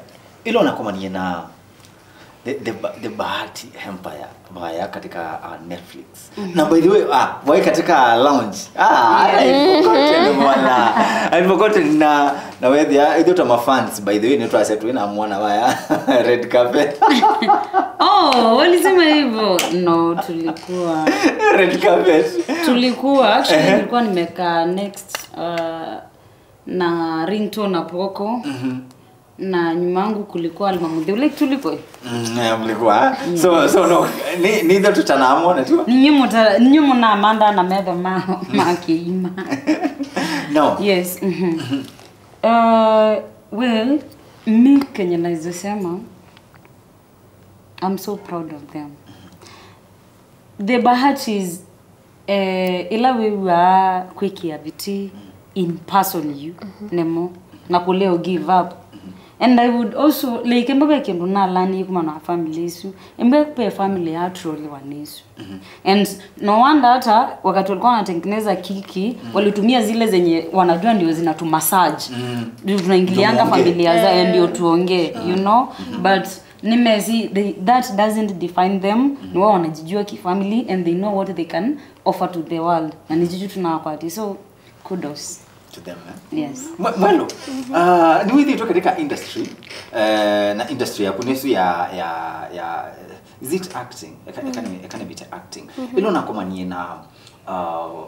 ila unakomanie na The, the, Ba- the Bahati Empire vaya katika uh, Netflix. Na by the way, ah, vai katika lounge. Ah, I forgotten bwana. I forgotten na na wethi ya ithuĩ ta mafans, by the way, nĩtwasya twĩ na mwana vaya red carpet. Oh, walisema hivyo? No, tulikuwa Red carpet. Tulikuwa actually, nilikuwa nimekaa next uh, na Ringtone na Poko. Na nyuma yangu kulikuwa Alma Mutheu. Like, tulikuwa Mm, yeah, mlikuwa. So so no, ni ni ndio tutanamwona tu. Ninyi muta- ninyi munamanda na metho ma ma kiima. No. Yes. Mhm. Uh, well, mi kenye naweza sema, I'm so proud of them. The Bahatis, eh, ila wĩw'aa kwĩkĩa vitii in person yu nemo na kũlea ũ give up. And I would also, like, emba ve kĩndũ nalani kuma na family isu, emba ve family ya troliwa nĩ isu. And no wonder hata wakati walikuwa wanatengeneza kiki, walitumia zile zenye wanajua ndio zinatumassage. Ndio tunaingilianga familia za ndio tuongee, you know. But nimesi, they, that doesn't define them. Ni wao wanajijua kifamily and they know what they can offer to the world. Na ni juju tunawapatia. So kudos. To them, eh? Yes. Mwe- Mwelo, uh, nĩwĩthĩĩtwe katika industry, eh, na industry yaku nĩsu ya, ya, ya, is it acting? Eka- eka nĩ- eka nĩmĩte acting. Ĩla ũnakomanie na uh,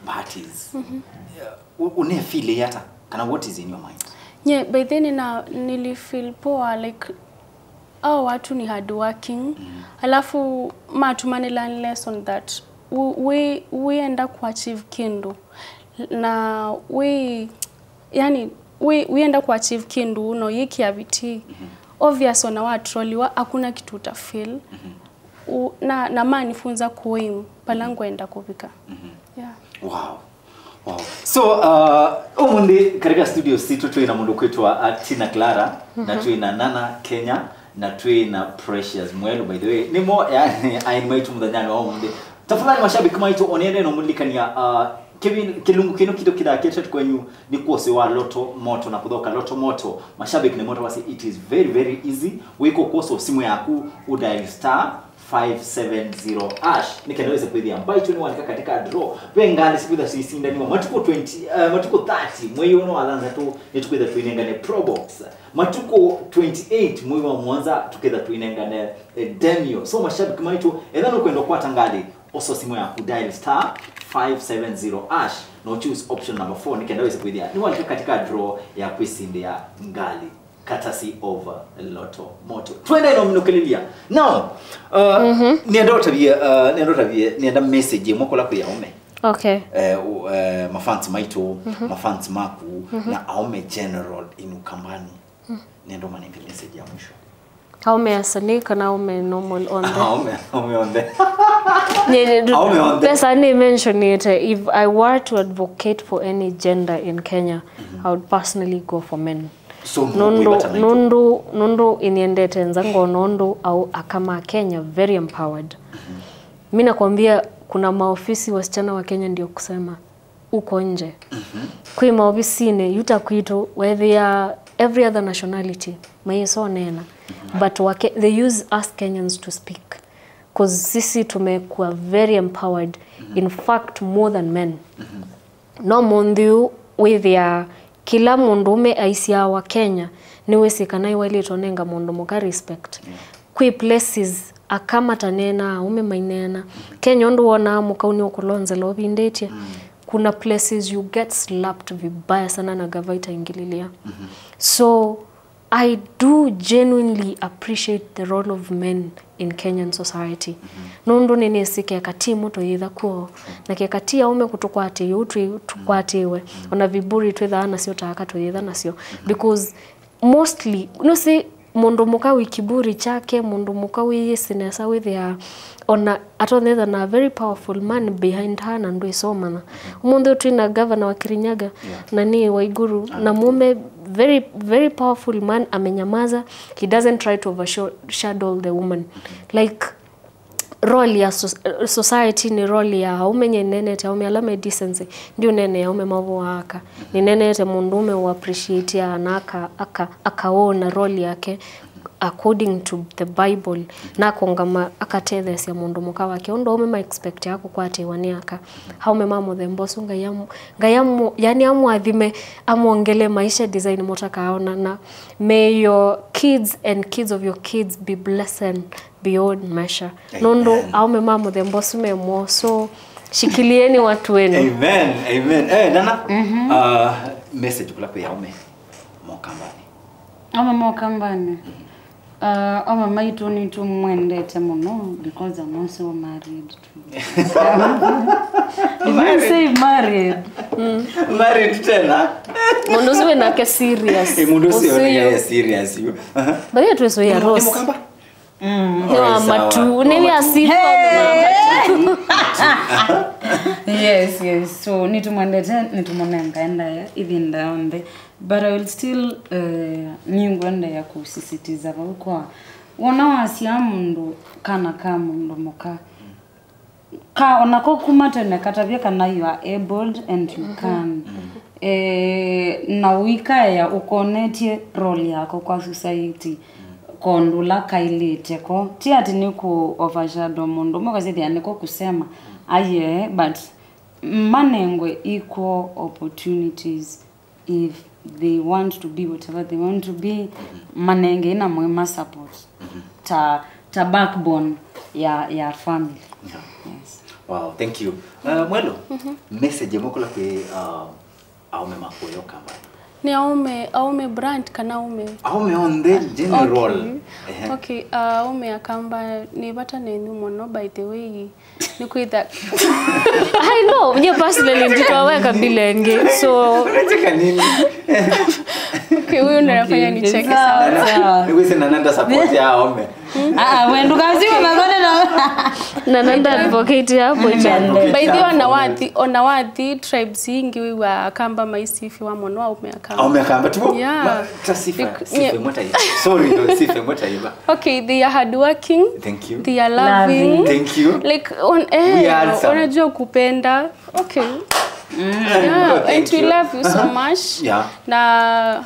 parties. Yeah, u- ũnefeel ata? Kana what is in your mind? Nye, by then na nilifeel poa, like, au watu ni hardworking. Alafu matuma ni learn lesson that u- we- wĩenda kuachieve kĩndũ na we, yani, we- wĩenda kuachieve kĩndũ no yĩkĩa vitii. Obvious ona watroliwa, hakuna kitu utafeel. U- na, na manifunza kuaim pala ngwenda kuvika. Yeah. Wow. Wow. So uh, ũmũnthĩ katika studio sitũ twĩ na mũndũ kwĩtwa uh, Tina Clara, na twĩ na Nana Kenya, na twĩ na Precious Mwelu. By the way, nĩmo yani aini maitũ mũthenyanĩ wa ũmũnthĩ. Tafadhali mashabiki maitũ, onende no mũlikania uh, kĩvi- kĩlungu kĩno kitũ kĩthakĩte kwenyu nĩ kwosi wa Lotto Moto na kũthoka Lotto Moto. Mashabiki nĩ moto wasi, it is very very easy. Wĩko kwoso simu yaku, u dial star five seven zero hash nĩ kenda wĩse kwĩthĩa mbaitũ nĩ walika katika draw. Ve ngalĩ sikwĩtha siisindaniwa matukũ twenty, uh, matukũ thirty mwei ũno wa thanthatũ, nĩtũkwĩtha twĩnengane Probox. Matukũ twenty-eight mwei wa mũonza tũkĩtha twĩnengane eh, Demio. So mashabiki maitũ, etha nũkwenda kwata ngalĩ, oso simu yaku, dial star five seven zero hash, no choose option number four nĩ kenda wĩse kwĩthĩa nĩ walika katika draw ya kwĩsindĩa ngalĩ. Courtesy of Lotto Moto. Twende no minũkĩlĩlya. Now, uh, nĩenda ũtavie, uh, nĩenda ũtavie, nĩenda message ĩmwe kũla kwĩ aũme. Okay. Eh, u- eh, mafans maitũ, mafans maku, na aũme general in Ukambani. Nĩenda ũmanenge message ya mwisho. Aũme asanii kana aũme normal onthe? Aũme, aũme onthe. Nye- nye- Aũme onthe. Pesa nĩ mentionĩte, if I were to advocate for any gender in Kenya, I would personally go for men. So, Nũndũ, wĩvata naitũ. nũndũ, nũndũ ĩniendete nza ngona ũndũ au aka ma Kenya very empowered. Mi nakwambia kuna maofisi wasichana wa Kenya ndio kusema uko nje. Kwĩ maofisinĩ yuta kwitũ wethĩa every other nationality maisonena, but wake, they use us Kenyans to speak, 'cause sisi tumekuwa very empowered, in fact more than men. No mũnthĩ ũũ wĩthĩa kĩla mũndũũme aisyawa Kenya nĩwĩsĩ kana ĩwaĩlĩte ũnenga mũndũ mũka respect. Kwĩ places aka mataneenaa, aũme maineena. Kenya ũndũ wonaa mũkau nĩũkũlonzela ũvindĩtye, kuna places you get slapped vibaya sana na gava itaingĩlĩlya. So I do genuinely appreciate the role of men in Kenyan society. Nũndũ nĩnĩsĩ keka ti mũ tũyĩtha kwoo, na keka ti aũme kũtũkwatĩĩa ũu twĩ- tũkwatĩĩwe, ona viburi twĩthaa nasyo ta aka tũyĩtha nasyo. Because mostly, nũsĩ mũndũ mũka wĩ kiburi kyake, mũndũ mũka wĩyĩsĩ nesa wĩthĩaa ona atonyetha na very powerful man behind her na ndwĩsomana. Ũmũnthĩ twĩ na governor wa Kirinyaga, na nĩ Waiguru, na mũme very, very powerful man amenyamaza, he doesn't try to overshadow the woman. Like, role ya so- society nĩ role ya aũme, nye nenete aũme ala me decency, ndiũnene aũme mavoa aka. Nĩnenete mũndũũme ũ appreciate ana aka, aka, akaona role yake. according to the Bible, na akongama akatetheesya mũndũ mũka wake. Ũndũ aume ma expect ya kũkwatĩwa nĩ aka. Aume ma mũthemba ũsu Ngai amu-, Ngai amu-, yani amwathime, amwongele maisha design mũtakaona, na may your kids and kids of your kids be blessed beyond measure. Nũndũ aume ma mũthemba ũsu me moo, so shikilieni watu wenu. Amen. Amen. Eh, Nana, uh, message kula kwĩ aume mokambani. Aume mokambani. Uh, aume maitũ nĩtũmwendete mũno because I'm also married to. Did you say married? Married tena. Mũndũ ũsu wĩ nake serious. Eh, mũndũ ũsu wĩ nake serious yu. Aha. Baye twĩsũia Rose. Nĩ mũkamba? Mm. Nĩ wa matu, nĩ wĩa sifa. Yes, yes. So, nĩtũmwendete, nĩtũmũnengae ndaĩa ĩvinda yonthe. But I will still, uh, nĩngwendeea kũsisitiza vau kwa, wona wasyaa mũndũ, kana ka mũndũ mũka, ka, onako kuma tene katavye kana you are abled and you can. Eh, na ũikaea ũkonetye role yako kwa society, kondũ ũla kaĩlĩte ko. Ti ati nĩ kũ overshadow mũndũ ũmwe, ũkasĩthĩa nĩko kusema. Aye, but manengwe equal opportunities. If they want to be whatever they want to be, manengei na mwĩma support ta, ta backbone ya, ya family. Yeah. Yes. Wow, thank you. Uh, Mwelo, message ĩmwe kula kwĩ, uh, aume makuyo kamba? Nĩ aume, aume brand kana aume? Aume on the general. Okay. Ehe. Okay, uh, aume akamba nĩ vata nenyu mũno, by the way. Nĩkwĩtha. I know, nye personally nditwaweka bila ĩngĩ. So, unacheka nini? Okay, huyu ndo anafanya nicheke sana. Sawa. Nikuise na nanda support ya aume. Ah, ah, we ndukasime magone na. Na nanda advocate hapo chande. By the way, ona wathi, ona wathi tribes ingi wiwa akamba maisifiwa mũno aume akamba. Aume akamba tu. Yeah. Sifa, sifa motaiva. Sorry, no, sifa motaiva. Okay, they are hardworking. Thank you. They are loving. Thank you. Like, on, eh, we are handsome. Wanajua kupenda. Okay. Yeah, and we love you so much. Yeah. Na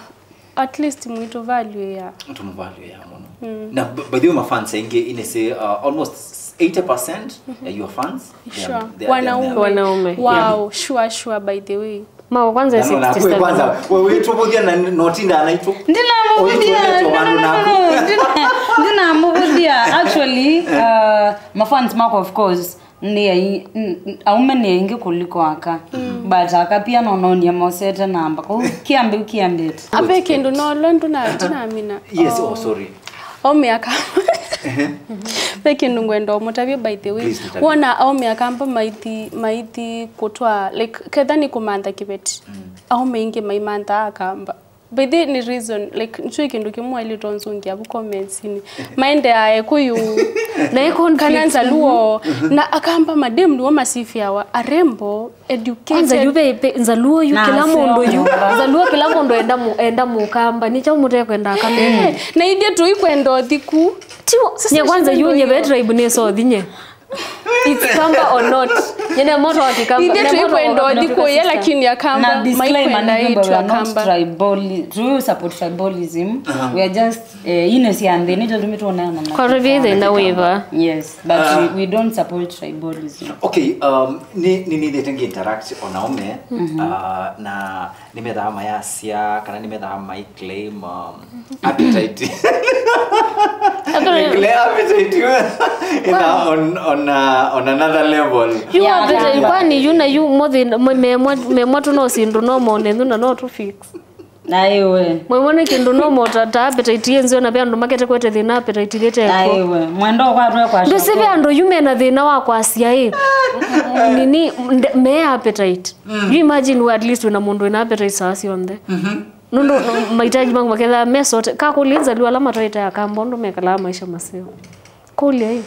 at least mwitũ value ya. Tumu value ya mũno. Na b-, by the way, my fans aingi, ine say, uh, almost eighty percent of your fans, they are, they are, they are wanaume. Wanaume. Wow, sure, sure, by the way. Mao kwanza sixty-seven. Kwanza, wewe tubudia na notinda anaitũ. Ndinamũvũthia. Ndinamũvũthia. Actually, uh, mafans mako, of course, nĩ ai-, n-, n-, aume nĩ aingĩ kuliko aka. But aka pia nononia mosete namba. Kwa hiyo kiambe, kiambe. Ape kindu no londo na ndinamina. Yes, oh, sorry. Aume aka. Ve kindu ngwenda ũmũtavye, by the way. Please, tũtavye. Wona aume akamba maithi, maithi kũtwa, like, ketha nĩ kũmantha kĩveti. Aume ingĩ maimantha akamba. By the way, nĩ reason, like, nĩkyo kindu kimwe ili tonzungia vu comments-ini. Maende ae kuyu. Na ĩ conflict. Kana Nzaluo, na akamba madem nĩwo masifiawa, arembo, educated. Kwanza yu ve, ve, Nzaluo yu kĩla mũndũ yu. Nzaluo kĩla mũndũ enda mu-, enda mũkamba. Nĩ kyaũ mũtekwenda akamba? Eh, na ithyĩ tũikwenda ũthiku. Tiwo, nye kwanza yu nye ve tribe nĩ sothi nye. It's kamba or not. Nye ne moto wa kikamba. Ithyĩ tũikwenda ũthiku ye, lakini akamba maikwenda itũ akamba. Tribali-, do you support tribalism? We are just, eh, ine cia nthĩ, nĩ tondũ mĩtuoneana na kwa revithe na wĩva. Yes, but we, we don't support tribalism. Okay, um, ni, ni, ni nĩthĩte ngĩ interact o na aume, uh, na nĩmethaa mayasya, kana nĩmethaa mai claim, um, appetite. Appetite. Clear appetite. In a, on, on, uh, on another level. You appetite, kwani yu na yu mothi, me, me, me moto no sindu no mone, na no tu fix. Naiwe. Mwĩmone kĩndũ no mota ta appetite yĩ nzeo, na ve andũ makete kwete thĩna appetite yĩte kwa. Naiwe. Mwendo kwa twe kwa. Ndũsĩ ve andũ yu mena thĩna wa kwasya ĩ. Nini, nde-, me appetite. You imagine we at least wĩna mũndũ wĩna appetite saa syonthe. Nũndũ mahitaji maku maketha me sote. Kakũlya Nzaluo ala matwaĩte akamba ũndũ mekalaa maisha maseo. Kũlya ĩ.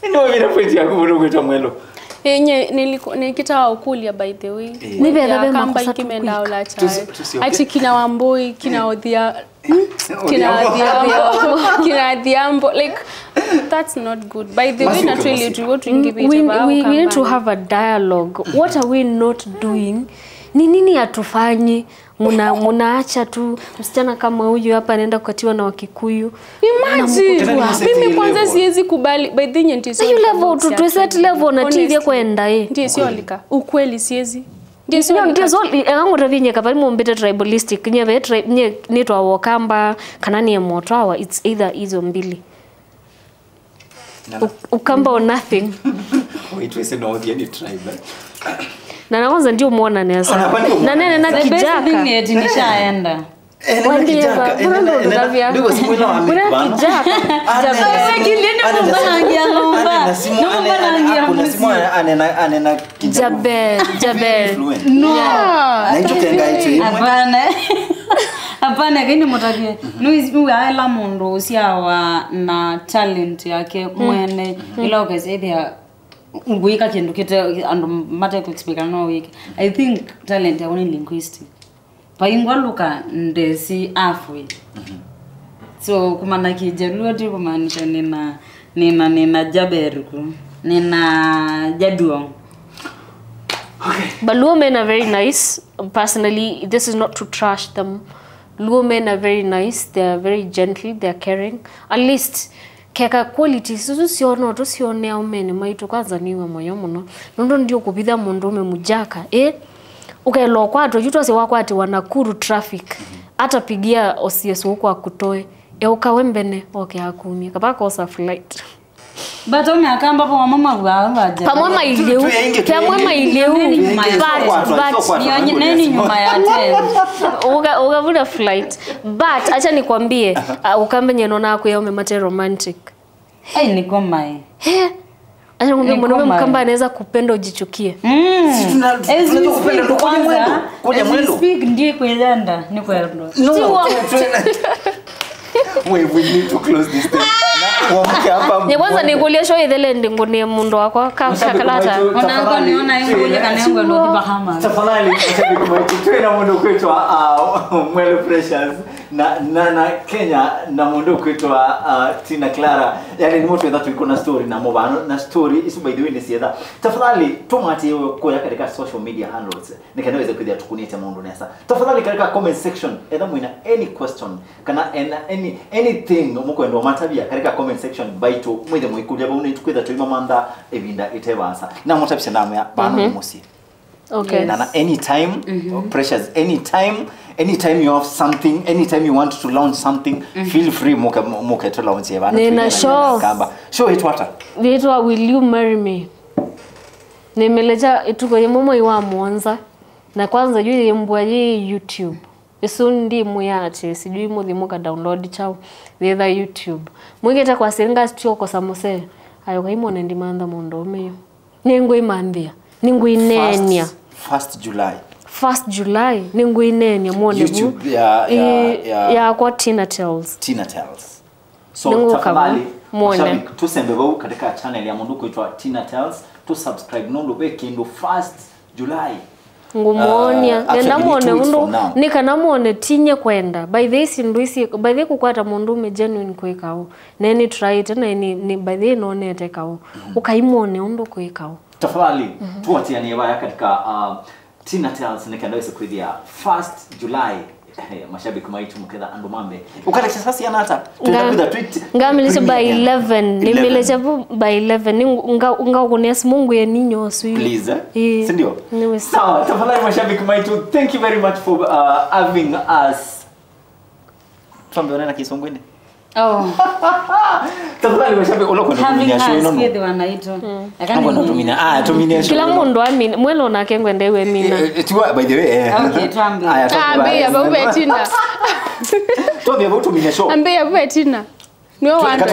Nĩ wavira point yaku mũno kwĩtwa Mwelo. Enye niliku-, nikitaka ũkũlya, by the way. Nĩ vetha ve makosa tu mendaa quick. Ati kina Wambui, kina Odhia-, kina Odhiambo, kina Odhiambo. Like, that's not good. By the way, naturally, tuiwo tuingivite we, we, we need to have a dialogue. What are we not doing Ni nini hatufanyi? Muna, munaacha tu msichana kama huyu hapa anaenda kukatiwa na Wakikuyu. Imagine. Mimi kwanza siwezi kubali. By the way, ndio hiyo level tu, tu set level na tivye kwenda eh. Ndio sio lika. Ukweli siwezi. Ndio sio ndio so eka ngutavinye kavali mumbite tribalistic nye ve tribe nye nitwa Wakamba kana ni motwawa, it's either hizo mbili. Ukamba or nothing. Wait, we say no the any tribe. Na na kwanza ndio muona nesa. Na nene na kijaka. Nishaenda. Wandie ba, mbona ndo ndavya? Mbona kijaka? Anena Jabel, Jabel. No. Naitũkenga ĩtũ imwe. Hapana. Hapana, kaini mũtavye. Nũĩ aela mũndũ ũsyawa na talent yake mwene. Ila ũkesethĩa ngwĩka kĩndũ kĩte andũ mate kũexpecta no wĩke. I think talent yaku nĩ linguistic. Vaingwa luka ndesi halfway. So kumanya Kijaluo ti kumaanisha nina nina nina Jaberuku. Nina Jaduong. But Luo men are very nice. Personally, this is not to trash them. Luo men are very nice. They are very gentle. They are caring. At least keka qualities isu syono tũsyonea aũmene maitũ kwanza nĩw'a mũyo mũno nũndũ ndiũkũvitha mũndũũme mũjaka ĩ ũkaĩlwa ũkwatwa yu twasye wakwatiwa Nakuru traffic atapigia O C S ũkwa kutoe eũkawe mbene oke akumye kavakosa flight. But umeakamba pamwe mawaa vaja. Pamwe mailiu. Pamwe mailiu. But but neni nyuma ya ten. Uga uga vuna flight. But acha nikwambie uh, ukambe nyeno na kwa ume mate romantic. Ai niko mai. Eh. Acha ngombe mwanaume mkamba anaweza kupenda ujichukie. Mm. As we speak kwanza. Kuja mwendo. As we speak ndiye kwenda ni kwenda. No. Wait, we need to close this thing. Wamke hapa. Nye kwanza nikulia show ithele ndingunie mundu wakwa ka shakalata. Ona ngo niona ingo ile kana ngo ndo Bahamas. Tafadhali mashabiki wetu twina mundu kwitwa uh, Mwele Precious na na na Kenya na mundu kwitwa uh, Tina Clara. Yani ni mtu wetu tuko na story na mubano na story isu by the way ni sietha. Tafadhali tumatie kuya katika social media handles. Nĩ kana wĩse kwĩthĩa tũkũnĩte maũndũ nesa. Tafadhali katika comment section etha mwĩna any question kana ena any anything mũkwenda matavya katika comment section baitũ mwĩthe mũikũlya vau nĩ tũkwĩtha tũimamantha ĩvinda ĩte vaasa na mũtavisya namwĩa vano nĩ mũsyĩ. Okay. Na na anytime mm -hmm. Precious anytime anytime you have something anytime you want to launch something mm -hmm. Feel free mũke mũke to launch evana nina show kamba show itwata itwa Will You Marry Me. Nĩmĩlecha ĩtuko yĩmwe mwei wa mũonza. Na kwanza yu yĩ mbua yĩ YouTube. Ĩsu ndimwĩa atĩ sijui mũthi mũka download chao. Yĩtha YouTube. Mwĩkĩte kwa siringa sitio kosa mũsee. Ayo kaimone ndimantha mũndũ ũme yu. Nĩngwĩmanthĩa. Nĩngwĩneenĩa. First July. First July nĩngwĩneenĩa mwone vu. YouTube ya ya ya yakwa Tina Tells. Tina Tells. So tafadhali mashabiki tusembe vau katika channel ya mũndũ kwitwa Tina Tells, tu subscribe nũndũ ve kĩndũ first July. Ngũmwonia uh, nenda mwone ũndũ nĩ kana mwone tinye kwenda by the way sindu isi by the way kũkwata mũndũ ũme genuine kwĩ kaũ na nĩ tryĩte na nĩ nĩ by the way nonete kaũ mm. Ũkaimwone ũndũ kwĩ kaũ. Tafadhali mm -hmm. Tuatianie vaya katika uh, Tina Tells nĩ kenda wĩse kwĩthĩa first July. Hey, mashabiki maitũ mũketha andũ mambe ũkatakisha sasi anata twenda kwĩtha tweet ngamilise by eleven nĩmilise by eleven ngaũkũnĩa simũ ngwĩe ninyosu please eh? Sindio? Sawa, tafadhali mashabiki maitũ, thank you very much for uh, having us. Twambe onana kisungwini. Oh. Tafadhali mashabiki ulo kwenda kuminia show ino. Kwĩthĩwa naitũ. Eka ndio tuminia. Ah, tuminia show. Kila mũndũ amina. Mwelo nake ngwenda iwe mina. Eh, eh, tiwa by the way. Eh. Okay, twambe. Aya, twambe. Ambia bau betina. Twambe bau tuminia show. Ambia bau betina. Nio wanda.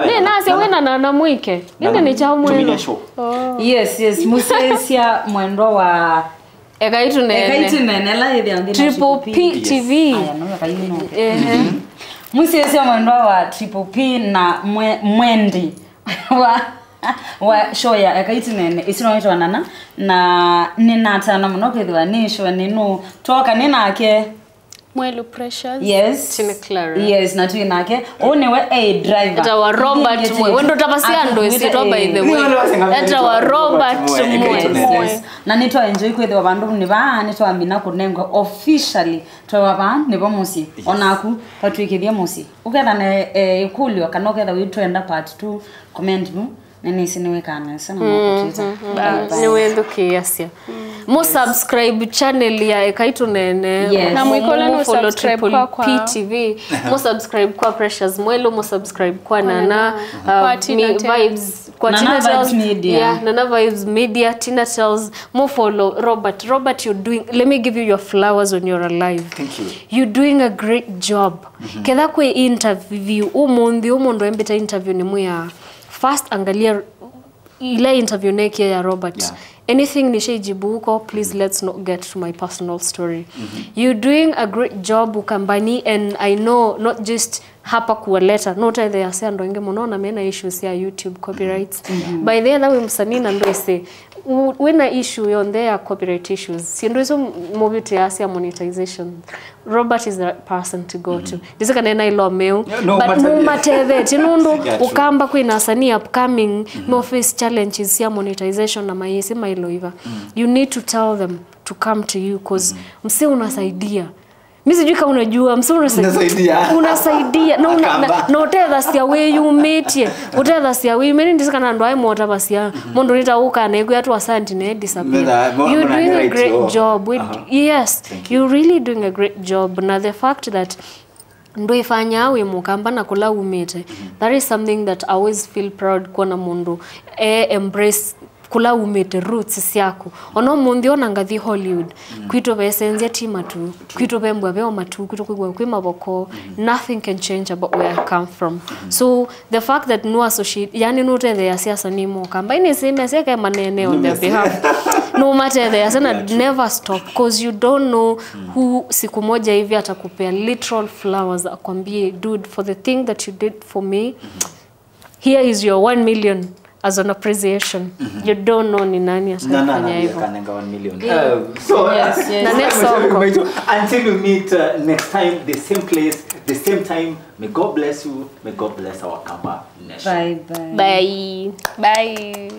Ni nase wena na na mwike. Nini ni chao mwelo. Tuminia show. Oh. Yes, yes. Musesia mwendo wa Ekai tũneene. Ekai tũneene la ĩthĩa nthĩ Triple P T V. Aya no ekai no. Ehe. Mũsyaĩĩsya mwendwa wa Triple P na mwe, mwendi wa wa show ya Ekai tũneene ĩsu no ĩtwanana na nĩnatana mũno kwĩthĩwa nĩ show nĩnũ twoka nĩ nake. Mwelu Precious. Yes. Tina Clara. Yes, na twĩ nake. Ũũ nĩwe a driver. Etawa Robert Mwe. Wendo tavasia andũ ĩsitwa by the way. Etawa Robert Mwe. Yes. Na nĩtwa enjoy kwĩthĩwa vandũ nĩ vaa nĩtwamina kũnengwa officially twewa vaa nĩvo mũsyĩ. Onaku twatwĩkĩthie mũsyĩ. Ũketha na eh, ĩkũlyo kana ũketha wĩtwenda part two, comment vu. Nĩnĩsĩ nĩwĩkaa nesa na makũtwĩta. Bye bye. Nĩwĩthukĩĩasya. Mũ subscribe channel ya Ekai Tũneene. Yes. Na mwĩkole nũ subscribe kwa, kwa P T V. Mũ subscribe kwa Precious Mwelu, mũ subscribe kwa Nana, kwa Tina Tales. Vibes, kwa Nana Tina Tales. Vibes Media. Yeah, Nana Vibes Media, Tina Tales. Mũ follow Robert. Robert, you're doing, let me give you your flowers when you're alive. Thank you. You're doing a great job. Ketha kwĩ interview ũmũnthĩ, ũmũndũ embĩta interview nĩ mwĩa first angalia ila interview nekie ya Robert. Yeah. Anything nishaijibu huko, please let's not get to my personal story. You're doing a great job Ukambani, and I know not just hapa kuwaleta, no ũtetheeasya andũ aingĩ mũno na mena issues ya YouTube copyrights. By the way, wĩ msanii na ndwĩsĩ, u- wĩna issue yonthe ya copyright issues, syĩndũ isu mũvĩtĩaa sya monetization, Robert is the person to go to. Ndĩsĩ kana ena ilo meu, No, but but- mũmatethetie nũndũ Yeah, true. Ukamba kwĩna asanii upcoming, no face challenges sya monetization na mayĩsĩ mailoiva. You need to tell them to come to you cause msee unasaidia. Mi sijui kama unajua, msee unasaidia. Unasaidia. Unasaidia. Na una- Akamba. na- na ũtethasya wĩyumĩtye. Ũtethasya wĩyumĩtye, ndĩsĩ kana andũ aĩ motavasya. Mũndũ nĩta ũka na ĩkwĩa tu asante na disappear. Metha- mo- You're mona doing a narrate, great oh. Job. We- Aha. Yes, Thank you're really doing a great job. Na the fact that ndwĩfanyaa wĩ Mũkamba na kũla umĩte, that is something that I always feel proud kuona mũndũ e embrace kũla umĩte, roots syaku. Ona ũmũnthĩ ona ngathi Hollywood, kwitũ vesenzya ti matu, kwitũ vembwa veo matu, kwitũ kwĩw'a kwĩ mavoko. Nothing can change about where I come from. So the fact that no associate, yani nũtetheeasya asanii ma Ũkamba, nĩsĩ mesya ke manene on their behalf. Nũmatetheeasya na never stop, cause you don't know who siku moja hivi atakupea literal flowers akwambie, dude, for the thing that you did for me, here is your one million as an appreciation. You don't know ni nani Na- na- atakufanya na- hivyo. kanenga one million. Uh, so, Yes, yes. Na next song. Until we meet uh, next time, the same place, the same time, may God bless you, may God bless our Kamba nation. Bye bye. Bye. Bye.